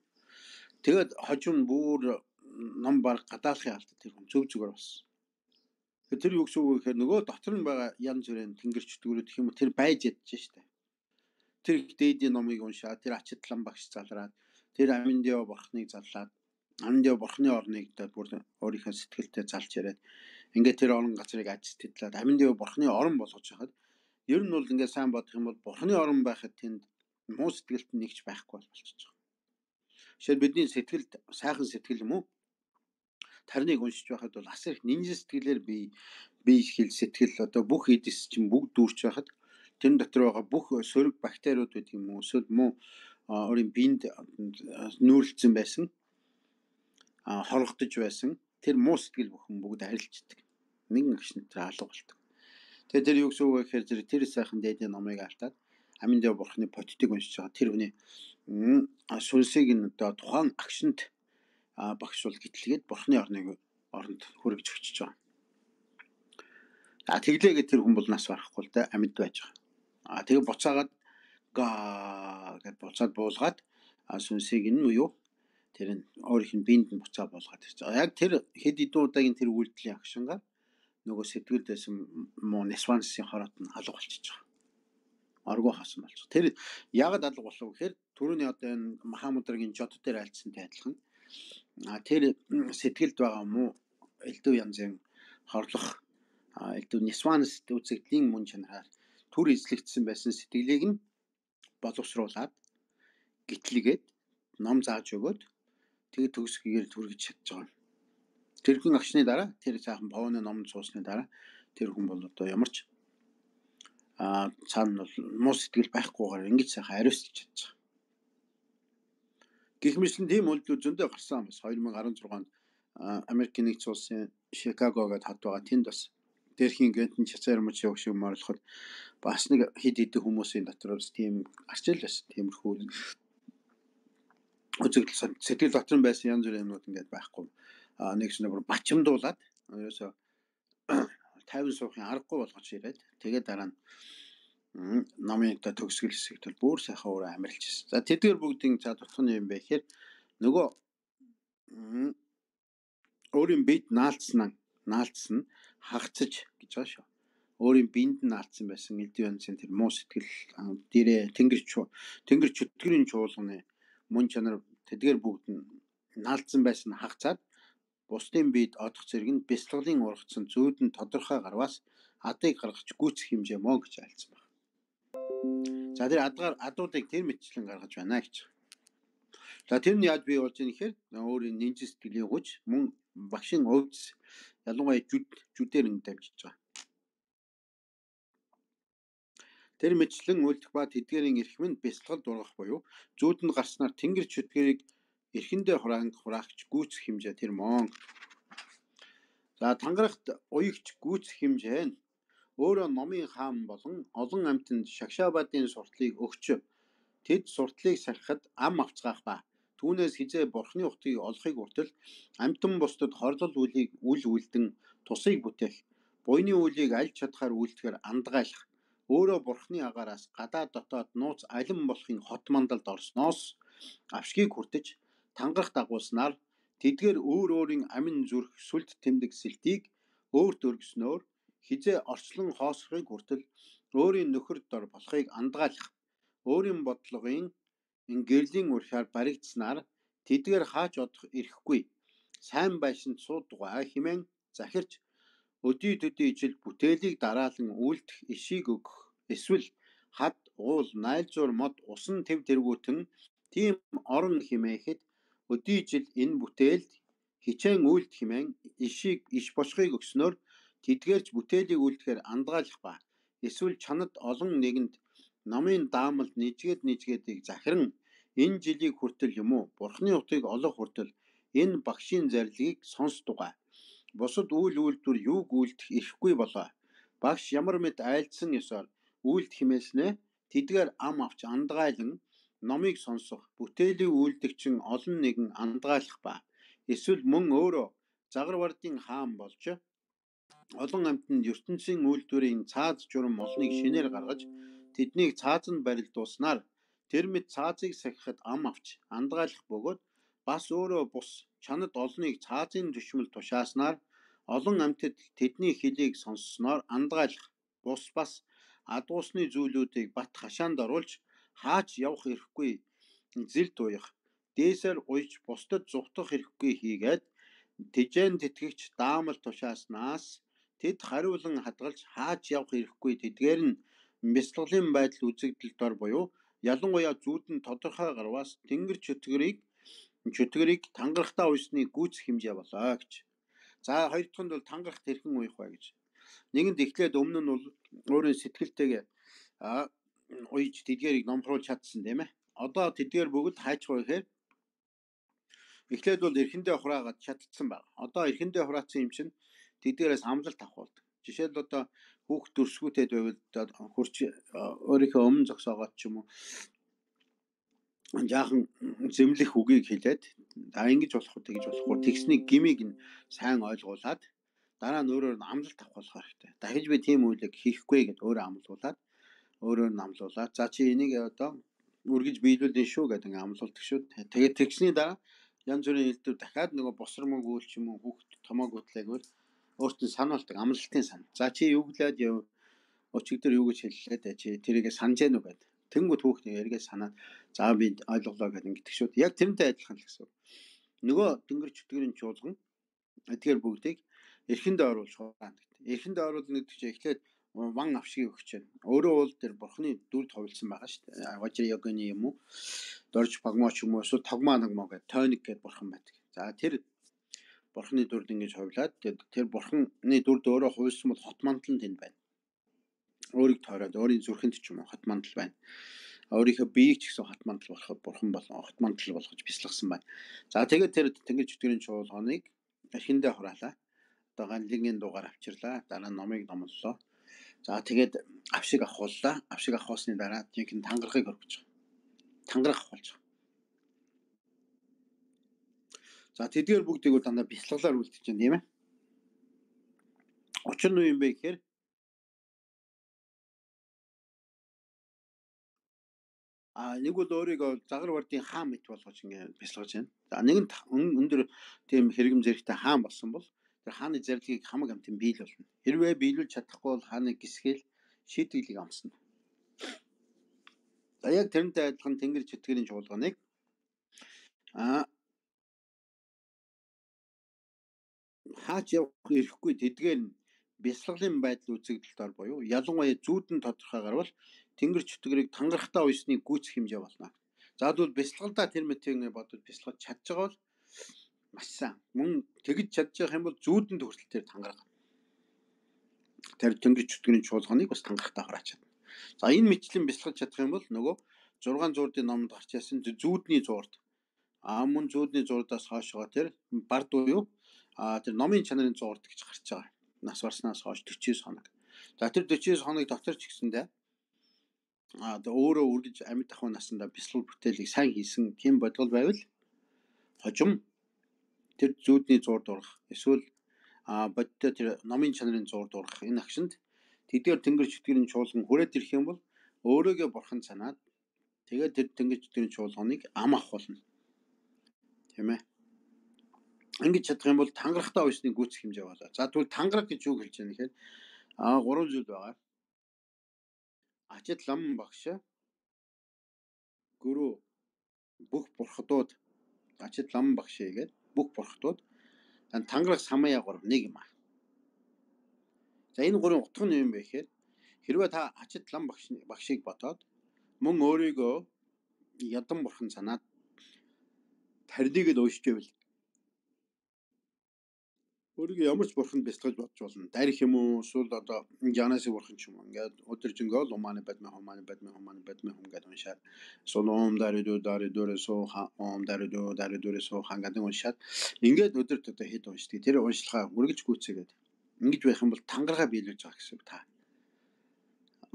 Тэгээд хожим бүр ном баг гадаалахын алд тэр хүн зөв зүгээр болсон. Тэр юу гэсэн үг вэ гэхээр нөгөө дотор нь байгаа янз бүрийн тэнгэрч дүүрүүд гэх юм уу тэр байж ядж штэ. Тэр дээдийн номыг уншаад тэр ачидлан багш залраад тэр Аминдио бурхныг заллаад Аминдио бурхны орныг бүр өөрийнхөө сэтгэлдээ залж яриад ингээд тэр орон газрыг аж сэтгэлээд Аминдио бурхны орон болгож хахад ер нь бол ингээд сайн бодох юм бол бурхны орон байхад тэнд муу сэтгэлд нэгч байхгүй болчихж байгаа. Жишээ бидний сэтгэлд сайхан сэтгэл юм уу? Тарныг уншиж байхад бол асар их нинж сэтгэлээр би би хэл сэтгэл одоо бүх эдис чинь бүгд дүүрч байхад тэр дотор байгаа бүх сөрөг бактериуд гэдэг юм уу эсвэл муу өөрийн биед нүүрлцсэн байсан хоргодож байсан тэр муу сэтгэл бүхэн бүгд арилждаг. Нэгэн агш нь тэр алга болдог. Тэгээд тэр юу гэсэн үг вэ гэхээр тэр сайхан дээдийн номыг алтаад Аминдио бурхны подтыг уншиж байгаа тэр хүний сүнсийг нь одоо тухайн агшинд багш бол гитлгээд бурхны орныг оронд хүргэж өчөж байгаа. А тэглээгээд тэр хүн бол нас барахгүй л да амьд байж байгаа. А тэгээ буцаагаад га гэд буцаад буулгаад сүнсийг нь юу тэр нь өөрийнх нь биед нь буцаа буулгаад ирж байгаа. Яг тэр хэд хэдэн удаагийн тэр үйлдэлийн агшингаар нөгөө сэтгэлд байсан муу несвансын хорот нь алга болчихж байгаа. Аргу хасан болж. Тэр яг алга болов гэхээр түрүүний одоо энэ Махамудрагийн жод дээр альцсантай адилхан. А тэр сэтгэлд байгаа муу элдв янзын хорлох элдв несванс үзэгдлийн мөн чанараар түр эзлэгдсэн байсан сэтгэлийг нь боловсруулад гитлэгээд ном зааж өгөөд тэгээ төгсгөөр түргэж чадж байгаа. Тэр хүн агшны дараа тэр цаахан Пауны номонд суусны дараа тэр хүн бол одоо ямарч а цаана бол муу сэтгэл байхгүйгээр ингэж сайхан ариусч чадчих. Гэх мэтлэн тийм үйлдэл зөндөө гарсан бас two thousand sixteen онд Америкийн нэгдсэн улсын Шикаго гэдэг хад байгаа тэнд бас дээрхийн гэнтэн чацаар мөч явах шиг морлоход бас нэг хид хид хүмүүсийн дотроос тийм арчил байсан. Тиймэрхүү үзэгдэл сэтгэл дотор байсан янз бүрийн юмнууд ингээд байхгүй. А нэгс нэг бачимдуулаад ерөөсө тайван суухын аргагүй болгож ирээд тэгээд дараа нь намын та төгсгөл хэсэгт бол бүр сайхан өөрөө амарлж ирсэн. За тэдгээр бүгдийн за тутахны юм бэ гэхээр нөгөө өөрийн бид наалцсан наалцсан хагцаж гэж байгаа шүү. Өөрийн биед нь наалцсан байсан элдв онцын тэр муу сэтгэл дээрээ тэнгэр тэнгэр чөтгөрийн чуулганы мөн чанар тэдгээр бүгд нь наалцсан байсан хагцаад бусдын биед одох зэрэг нь бяцлаглын ургацсан зүйдэн тодорхой гарваас адыг гаргаж гүйцэх хэмжээ мөн гэж айлцсан байна. За тэр адгаар адуудыг тэр мэтчлэн гаргаж байна гэж. За тэр нь яаж бий болж ийм гэхээр өөрийн нинж сэтгэлийн хүч мөн багшийн өвц ялангуяа жүд жүдээр ингэ дамжиж байгаа. Тэр мэтчлэн үлдэх ба тэдгээрийн эрх мэнд бяцлагалд ургах буюу зүйдэнд гарснаар тэнгэр чөтгөрийг эрхэндээ хураанг хураагч гүйцэх хэмжээ тэр мөн. За тангарахт уягч гүйцэх хэмжээ нь өөрөө номын хаан болон олон амьтанд шагшаабадын суртлыг өгч тэд суртлыг сахихад ам авцгаах ба түүнээс хизээ бурхны утгыг олохыг хүртэл амьтан бусдад хорлол үлийг үл үлдэн тусыг бүтээх буйны үлийг аль чадхаар үлдэхээр андгаалах өөрөө бурхны агаараас гадаад дотоод нууц алин болохын хот мандалд орсноос авшгийг хүртэж тангарах дагуулснаар тэдгээр өөр өөрийн амин зүрх сүлд тэмдэг сэлтийг өөрт өргөснөөр хизээ орчлон хоосохыг хүртэл өөрийн нөхөр дор болохыг андгаалах өөрийн бодлогын гэрлийн урхиар баригдснаар тэдгээр хаач одох ирэхгүй сайн байшинд суудгаа хэмээн захирч өдий төдий ижил бүтээлийг дараалан үйлдэх ишийг өгөх эсвэл хад уул найлзуур мод усан тэв тэргүүтэн тийм орон хэмээхэд өдий ижил энэ бүтээлд хичээн үйлд хэмээн ишийг иш босхыг өгснөөр тэдгээрч бүтээлийг үйлдэхээр андгаалах ба эсвэл чанад олон нэгэнд намын даамалд нийжгээд нийжгээдийг захиран энэ жилийг хүртэл юм уу бурхны утгыг олох хүртэл энэ багшийн зарилгийг сонсдугай. Бусад үйл үйлдвэр юуг үйлдэх ирэхгүй болоо. Багш ямар мэд айлдсан ёсоор үйлд химээснэ тэдгээр ам авч андгаалan номыг сонсох бүтээлийн үйлдэгчин олон нэгэн андгаалах ба эсвэл мөн өөрөө загварвардын хаан болж олон амьтанд ертөнцийн үйлдвэрийн цааз журам олныг шинээр гаргаж тэднийг цаазанд барилдуулснаар тэр мэд цаазыг сахихад ам авч андгаалах бөгөөд бас өөрөө бус чанад олныг цаазын төшмөл тушааснаар олон амьтад тэдний хэлийг сонссноор андгаалах бус бас адуусны зүйлүүдийг бат хашаанд оруулж хаач явах ирэхгүй зэл туях дээсээр уйж бусдад зүхтах ирэхгүй хийгээд тэжээн тэтгэгч даамал тушааснаас тэд хариулан хадгалж хаач явах ирэхгүй тэдгээр нь бяцлаглын байдал үзэгдэл дор буюу ялангуяа зүүдэн тодорхой гарваас тэнгэр чөтгөрийг чөтгөрийг тангарахтаа уйсны гүйцэх хэмжээ болоо гэж. За хоёр дахь нь бол тангарах тэрхэн уйх бай гэж. Нэгэнд эхлээд өмнө нь бол өөрийн сэтгэлтэйгээ уйж тэдгээрийг номхруулж чадсан тийм ээ. Одоо тэдгээр бүгд хайчгаа ихээр эхлээд бол эрхэндээ хураагаад чадсан баг. Одоо эрхэндээ хураацсан юм чинь тэдгээрээс амлалт авах болдог. Жишээлбэл одоо хүүхд төрсгүүтэй байвал хурч өөрийнхөө өмнө зогсоогоод ч юм уу жаахан зэмлэх үгийг хэлээд за ингэж болох уу тэгж болох уу тэгсний гмийг нь сайн ойлгуулад дараа нь өөрөөр нь амлалт авах болох хэрэгтэй. Дахиж би тийм үйлийг хийхгүй гэд өөрөө амлуулад өөрөөр нь амлуулад за чи энийг одоо үргэж биелүүлнэ шүү гэдэг ингээ амлуулдаг шүү. Тэгээд тэгсний дараа янз бүрийн хэлдвэр дахиад нөгөө босромог үйл ч юм уу хүүхд томоог утлайгвал өөрт нь сануулдаг амлалтын сан. За чи юу гэлээд яв өчигдөр юу гэж хэллээ чи тэрийгэ санаж гэнэ үү гэдэг. Тэнгүүд хүүхд эргээ санаад за би ойлголоо гэдэг ингэдэг шүү. Яг тэрнтэй адилхан л гэсэн. Нөгөө тэнгэр чөтгөрийн чуулган эдгээр бүгдийг эрхэндээ оруулж хураана гэдэг. Эрхэндээ оруулна гэдэг чинь эхлээд ван авшгийг өгч байна. Өөрөө бол тэр бурхны дүрд хувилсан байгаа шүү дээ. Важир йогны юм уу? Дорж багмоо ч юм уу эсвэл тогмоо нагмоо гэдэг тойник гэдэг бурхан байдаг. За тэр бурхны дүрд ингэж хувлаад тэр бурхны дүрд өөрөө хувилсан бол хот мандал нь тэнд байна. Өөрийг тойроод өөрийн зүрхэнд ч юм уу хот мандал байна. Өөрийнхөө биеийг ч гэсэн хот мандал болоход бурхан болон хот мандал болгож бясалгасан байна. За тэгээд тэр тэнгэр чөтгөрийн чуулганыг архиндээ хураалаа. Одоо ганлигийн дугаар авчирлаа. Дараа нь номыг номлолоо. За тэгээд авшиг авахуллаа. Авшиг авахсны дараа жинхэнэ тангарахыг өргөж байгаа. Тангарах болж байгаа. За тэдгээр бүгдийг дандаа бясалгалаар үлдэж байна тийм ээ. Учир нь юу юм бэ гэхээр а нэг бол өөрийгөө загар бардын хаан мэт болгож ингэ бясалгаж байна. За нэг нь өндөр тийм хэрэгэм зэрэгтэй хаан болсон бол тэр хааны зарилгийг хамаг амтын биел болно. Хэрвээ биелүүлж чадахгүй бол хааныг гисгээл шийдвэрлийг амсна. За яг тэрнтэй адилхан тэнгэр чөтгөрийн чуулганыг а хаач явах ирэхгүй тэдгээр нь бясалгалын байдал үзэгдэлд ор буюу ялангуяа зүүдэн тодорхойгоор бол тэнгэр чөтгөрийг тангарахтаа уйсны гүйцэх хэмжээ болно. За тэгвэл бясалгалдаа тэр мэтийн бодод бясалгаж чадж байгаа бол маш сайн. Мөн тэгж чадж байгаа юм бол зүүдэнд хүртэл тэр тангарах. Тэр тэнгэр чөтгөрийн чуулганыг бас тангарахтаа хурааж чадна. За энэ мэтлэн бясалгаж чадах юм бол нөгөө зургаан зуурдын номонд гарч яасан зүүдний зуурд а мөн зүүдний зуурдаас хойшоо тэр бард буюу а тэр номын чанарын зуурд гэж гарч байгаа. Нас барснаас хойш дөрвөн хоног. За тэр дөрвөн хоног дотор ч гэсэндээ а өөрөө үргэж амьд ахуй насандаа бясалгал бүтээлийг сайн хийсэн тийм бодлого байвал хожим тэр зүүдний зуурд урах эсвэл а бодтой тэр номын чанарын зуурд урах энэ агшинд тэдгээр тэнгэр чөтгөрийн чуулган хүрээд ирэх юм бол өөрөөгөө бурхан санаад тэгээд тэр тэнгэр чөтгөрийн чуулганыг ам авах болно. Тийм ээ. Ингэж чадах юм бол тангарахтаа уйсны гүйцэх хэмжээ болоо. За тэгвэл тангарах гэж юу хэлж байгаа нэхээр а гурван зүйл байгаа. Ачид лам багш гүрүү бүх бурхадууд ачид лам багш гэдэг бүх бурхадууд тангарах самая гурав нэг юм аа. За энэ гурван утга нь юм бэ гэхээр хэрвээ та ачид лам багш багшийг бодоод мөн өөрийгөө ядан бурхан санаад тарныг л уушж байвал өөрийгөө ямар ч бурханд бясалгаж бодж болно. Дарих юм уу эсвэл одоо Жанасын бурхан ч юм уу ингээд өдөржингөө луманы бадмын хуманы бадмын хуманы бадмын хум гэдэг уншаад солом даридо даридоре соо ом даридо даридоре соо хангадаг уншаад ингээд өдөрт одоо хэд уншдаг. Тэр уншлагаа үргэлж гүйцээгээд ингэж байх юм бол тангараа биелүүлж байгаа гэсэн та.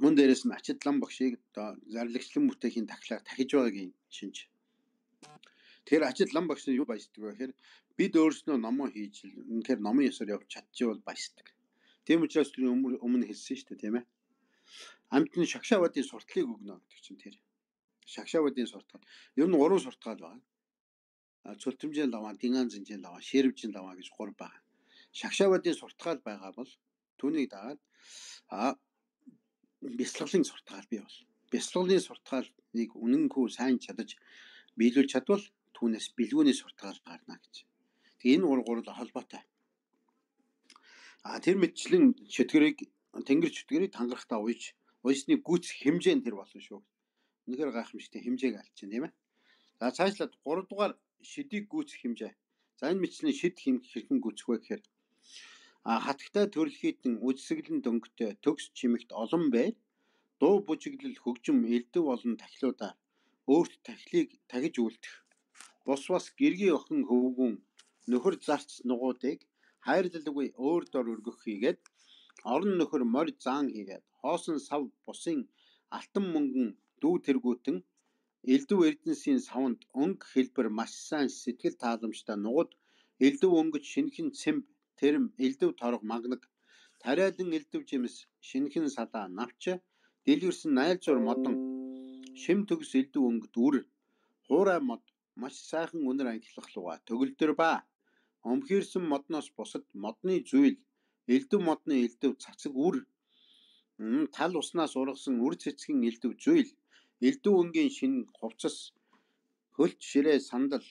Мөн дээрээс нь ачид лам багшийг одоо зарлагчлан бүтээхийн тахлаар тахиж байгаагийн шинж. Тэр ачид лам багш нь юу баяждаг вэ гэхээр бид өөрснөө номоо хийж үнэхээр номын ёсоор явж чадчихвал баяждаг. Тийм учраас тэр өмнө хэлсэн шүү дээ тийм ээ. Амтны шагшаавадын сурталыг өгнө гэдэг чинь тэр. Шагшаавадын суртал. Ер нь гурван суртал байна. Цөлтөмжийн лаваа, дингаан зинжийн лаваа, ширвжийн лаваа гэж гурав байна. Шагшаавадын суртал байгаа бол түүнийг дагаад а бясалгалын суртал бий бол. Бясалгалын сурталыг үнэнгүй сайн чадаж биелүүлж чадвал түүнээс бэлгүүний суртал гарна гэж. Тэгээ энэ гурав гурав холбоотой. А тэр мэтчлэн чөтгөрийг тэнгэр чөтгөрийг тангарахтаа уйж уйсны гүйцэх хэмжээ нь тэр болно шүү. Үнэхээр гайхамшигтай хэмжээг алж чинь тийм ээ. За цаашлаад гурав дугаар шидийг гүйцэх хэмжээ. За энэ мэтчлэн шид хэрхэн гүйцэх вэ гэхээр а хатагтай төрөлхийдэн үдсэглэн дөнгөтэй төгс чимэгт олон бай дуу бужиглал хөгжим элдв олон тахилуудаар өөрт тахилыг тагиж үлдэх бус бас гэргийн охин хөвгүн нөхөр зарц нугуудыг хайрлалгүй өөр дор өргөх хийгээд орон нөхөр морь заан хийгээд хоосон сав бусын алтан мөнгөн дүү тэргүүтэн элдв эрдэнсийн савнд өнгө хэлбэр маш сайн сэтгэл тааламжтай нугад элдв өнгөж шинхэн цэмб тэрэм элдв торог магнаг тариалан элдв жимс шинхэн салаа навч дэлгэрсэн найлзуур модон шим төгс элдв өнгөд үр хуурай мод маш сайхан үнэр ангилах луга төгөлдөр ба омхирсэн модноос бусад модны зүйл элдв модны элдв цацаг үр тал уснаас ургасан үр цэцгийн элдв зүйл элдв өнгийн шин хувцас хөлт ширээ сандал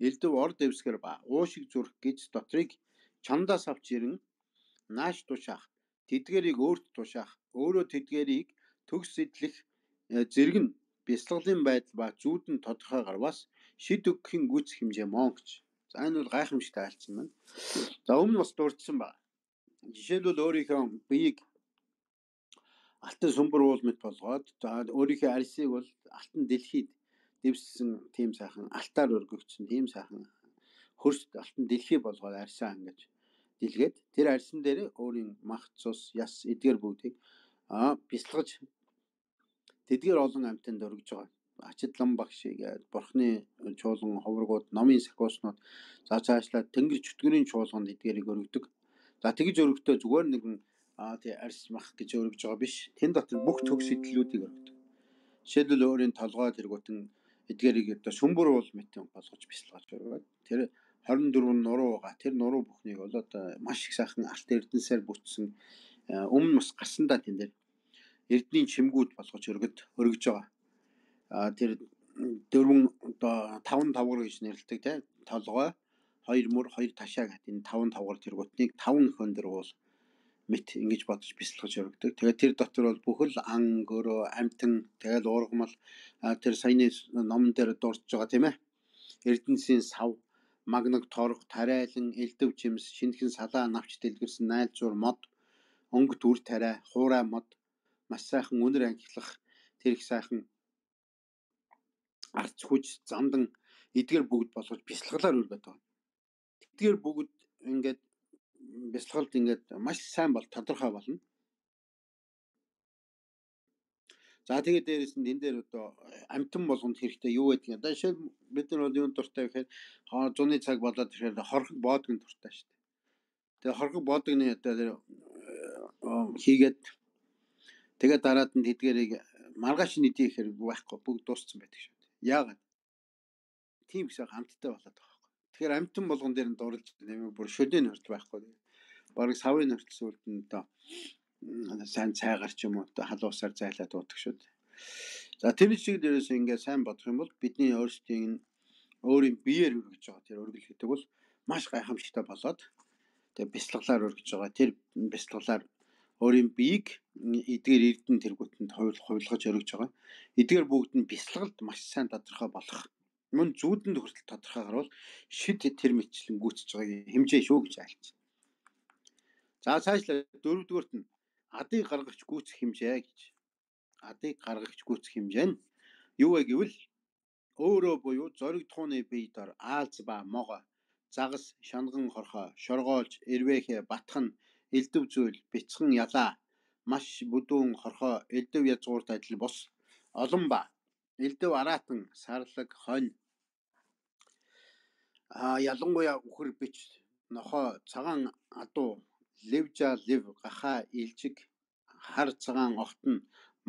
элдв ор дэвсгэр ба уушиг зүрх гэж дотрыг чамдаас авч ирэн нааш тушаах тэдгэрийг өөрт тушаах өөрөө тэдгэрийг төгс сэтлэх зэрэг нь бясалгалын байдал ба зүүдэн тодорхой гарвас шид өгөхийн гүйцэх хэмжээ мөн гэж. За энэ бол гайхамшигтай айлцсан байна. За өмнө бас дурдсан байна. Жишээлбэл өөрийнхөө биеийг алтан сүмбэр уул мэт болгоод за өөрийнхөө арьсыг бол алтан дэлхийд дэвссэн тийм сайхан алтаар өргөгдсөн тийм сайхан хөрст алтан дэлхий болгоод арьсаа ингэж дэлгээд тэр арьсан дээр өөрийн мах цус яс эдгээр бүгдийг аа бясалгаж тэдгээр олон амьтанд өргөж байгаа. Ачидлан багш гээд бурхны чуулган ховрогууд номын сахиуснууд за цаашлаад тэнгэр чөтгөрийн чуулганд эдгээрийг өргөдөг. За тэгж өргөдөө зүгээр нэгэн аа тий арьс мах гэж өргөж байгаа биш. Тэн дотор бүх төгс сэтлүүдийг өргөдөг. Жишээлбэл өөрийн толгой тэргүүтэн эдгээрийг одоо сүмбэр уул мэт болгож бясалгаж өргөөд тэр хорин дөрвөн нуруу байгаа. Тэр нуруу бүхнийг бол одоо маш их сайхан алт эрдэнсээр бүтсэн өмнө бас гарсандаа тэн дээр эрдний чимгүүд болгож өргөд өргөж байгаа. А тэр дөрвөн одоо таван тавгар гэж нэрлэдэг тий толгой хоёр мөр хоёр ташаа гэдэг энэ таван тавгар тэргүүтнийг таван хөндөр уул мэт ингэж бодож бясалгаж өргөдөг. Тэгээд тэр дотор бол бүхэл ан гөрөө амтан тэгээд уургамал тэр саяны номон дээр дурдж байгаа тийм ээ. Эрдэнсийн сав магнаг торох тариалан элдв жимс шинхэн салаа навч дэлгэрсэн найлзуур мод өнгөт үр тариа хуурай мод маш сайхан үнэр ангилах тэр их сайхан арц хүч замдан эдгээр бүгд болгож бясалгалаар өргөдөг байгаа. Эдгээр бүгд ингээд бясалгалд ингээд маш сайн бол тодорхой болно. За тэгээд дээрээс нь энэ дээр одоо амтан болгонд хэрэгтэй юу гэдэг юм. Одоо жишээ бид нар бол юунд дуртай гэхээр зуны цаг болоод ирэхээр хорхог боодгийн дуртай шүү дээ. Тэгээд хорхог боодгны одоо хийгээд тэгээд дараад нь тэдгэрийг маргааш нь идэх хэрэг байхгүй бүгд дууссан байдаг шүү дээ. Яагаад? Тийм их амттай болоод байгаа байхгүй. Тэгэхээр амтан болгон дээр нь дурлж нэмээ бүр шөдийн хорт байхгүй. Бараг савын хортол сүлд нь одоо сайн цайгаар ч юм уу одоо халуусаар зайлаад дуудаг шүү дээ. За тэр шиг дээрээс ингээд сайн бодох юм бол бидний өөрсдийн өөрийн биеэр өргөж байгаа тэр өргөл гэдэг бол маш гайхамшигтай болоод тэр бясалгалаар өргөж байгаа. Тэр бясалгалаар өөрийн биеийг эдгээр эрдэн тэргүүтэнд хувилгаж өргөж байгаа. Эдгээр бүгд нь бясалгалд маш сайн тодорхой болох. Мөн зүүдэнд хүртэл тодорхой гарвал шид тэр мэтчлэн гүйцэж байгаа хэмжээ шүү гэж айлч. За цаашлаа дөрөвдүгээрт нь адыг гаргагч гүйцэх хэмжээ гэж. Адыг гаргагч гүйцэх хэмжээ нь юу вэ гэвэл өөрөө буюу зориг тууны бие дор аалз ба могоо загас шанган хорхоо шоргоолж эрвэхэ батхан элдв зүйл бяцхан ялаа маш бүдүүн хорхоо элдв язгуурт адил бус олон ба элдв араатан сарлаг хонь а ялангуяа үхэр бич нохоо цагаан адуу левжа лев гаха илжиг хар цагаан огтон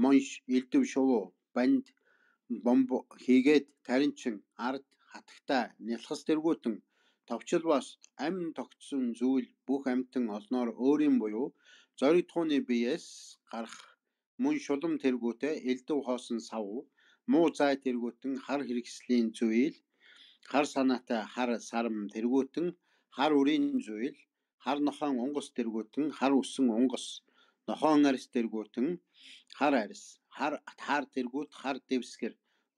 монш элдв шувуу банд бомб хийгээд таринчин ард хатагтай нялхас тэргүүтэн товчлбаас амин тогтсон зүйл бүх амтан олноор өөрийн буюу зориг тууны биеэс гарах мөн шулам тэргүүтээ элдв хоосон сав муу зай тэргүүтэн хар хэрэгслийн зүйл хар санаатай хар сарам тэргүүтэн хар үрийн зүйл хар нохон унгас тэргүүтэн хар үсэн унгас нохон арьс тэргүүтэн хар арьс хар хар тэргүүт хар дэвсгэр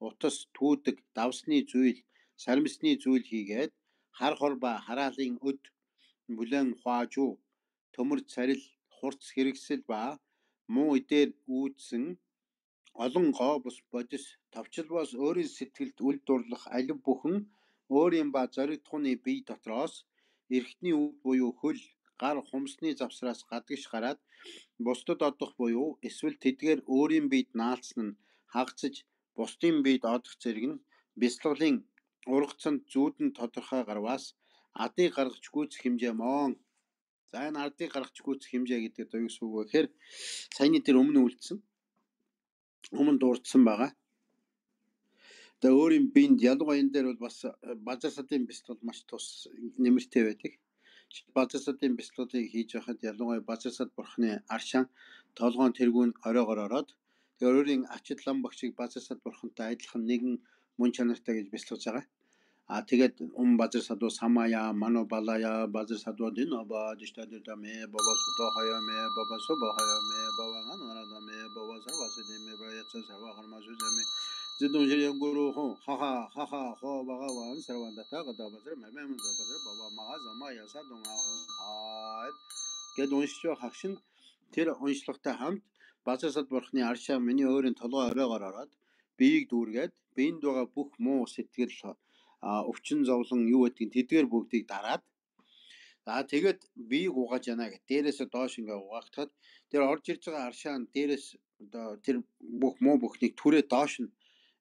утас түүдэг давсны зүйл сармисны зүйл хийгээд хар хор ба хараалын өд бүлэн хуаажуу төмөр царил хурц хэрэгсэл ба муу идээр үүдсэн олон гоо бус бодис товчлбоос өөрийн сэтгэлд үл дурлах алив бүхэн өөрийн ба зориг тууны бие дотроос эрхтний үд буюу хөл гар хумсны завсраас гадагш гараад бусдад одох буюу эсвэл тэдгээр өөрийн биед наалцсан нь хагацж бусдын биед одох зэрэг нь бясалгалын ургацанд зүүдэн тодорхой гарваас адыг гаргаж гүйцэх хэмжээ моон. За энэ адыг гаргаж гүйцэх хэмжээ гэдэг нь юу гэсэн үг вэ гэхээр саяны тэр өмнө үлдсэн өмнө дурдсан байгаа. Тэгээ өөрийн биед ялангуяа энэ дээр бол бас базар садын бясалгал маш тус нэмэртэй байдаг. Базар садын бясалгалыг хийж байхад ялангуяа базар сад бурхны аршаан толгоон тэргүүн оройгоор ороод тэгээ өөрийн ачид лам багшийг базар сад бурхантай адилхан нэгэн мөн чанартай гэж бясалгаж байгаа. А тэгээд ум базар садуу самая мано балая базар садуу дин оба диштаддаме баба сото хаяме баба собо хаяме баба ганараме баба савасадеме баяца сава хармазуземе Zidongjianguru Hong, Haha, Haha, Ho, Bagawan, Saravandata, Gadabazar, Mamam Zabazar, Baba Magazama, Yasa Donga, Get Onshio Hakshin, Tira Onslokta Hamt, Bazasat Borchni Arsha, many or in Tolo Regarat, Big Durget, Bein Doga Book Mo Sitil, Option Zolong, you at Titir Book Tarat. За тэгээд би гугаж яана гэх. Дээрээс доош ингээ угаагдахад тэр орж ирж байгаа аршаан дээрээс одоо тэр бүх муу бүхнийг түрээ доош нь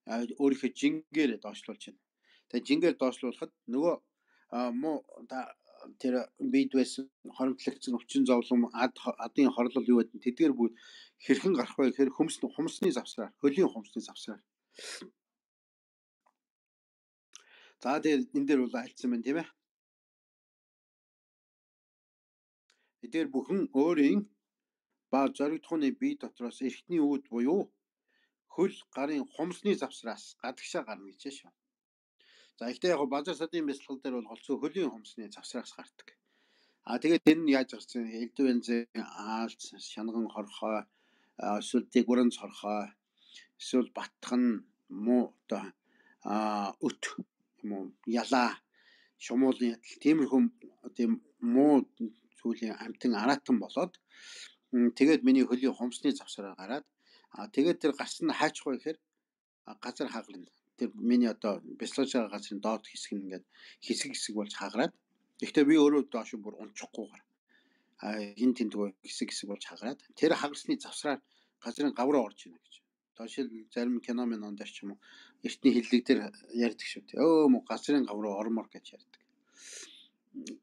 өөрийнхөө жингээр доошлуулж байна. Тэгээд жингээр доошлуулахад нөгөө муу тэр бид байсан хоримтлагдсан өвчин зовлон ад адын хорлол юу гэдэг тэдгээр бүгд хэрхэн гарах вэ гэхээр хөмс хумсны завсраар, хөлийн хумсны завсраар. За тэгээд энэ дээр бол альцсан байна тийм ээ. Эдгээр бүхэн өөрийн ба зоригдохны бие дотроос эртний үүд буюу хөл гарын хумсны завсраас гадагшаа гарна гэж шүү. За ихтэй яг базар садын бясалгал дээр бол голцоо хөлийн хумсны завсраас гардаг. А тэгээд тэр нь яаж гарсан? Элдв янзын аалц, шанган хорхой, эсвэл дэгүрэн хорхой, эсвэл батхан муу одоо а өт юм уу ялаа шумуулын тиймэрхүү тийм муу зүйлийн амтан араатан болоод тэгээд миний хөлийн хумсны завсараа гараад а тэгээд тэр гарсан нь хаачих вэ гэхээр газар хагална. Тэр миний одоо бяцлаж байгаа газрын доод хэсэг нь ингээд хэсэг хэсэг болж хагараад гэхдээ би өөрөө доош бүр унчихгүйгээр а хин тэнтгөө хэсэг хэсэг болж хагараад тэр хагарсны завсраар газрын гавраа орж ийнэ гэж. Доош зарим кино минь онд ч юм уу эртний хиллэг дээр ярьдаг шүү дээ. Өө мо газрын гавраа ормор гэж ярьдаг.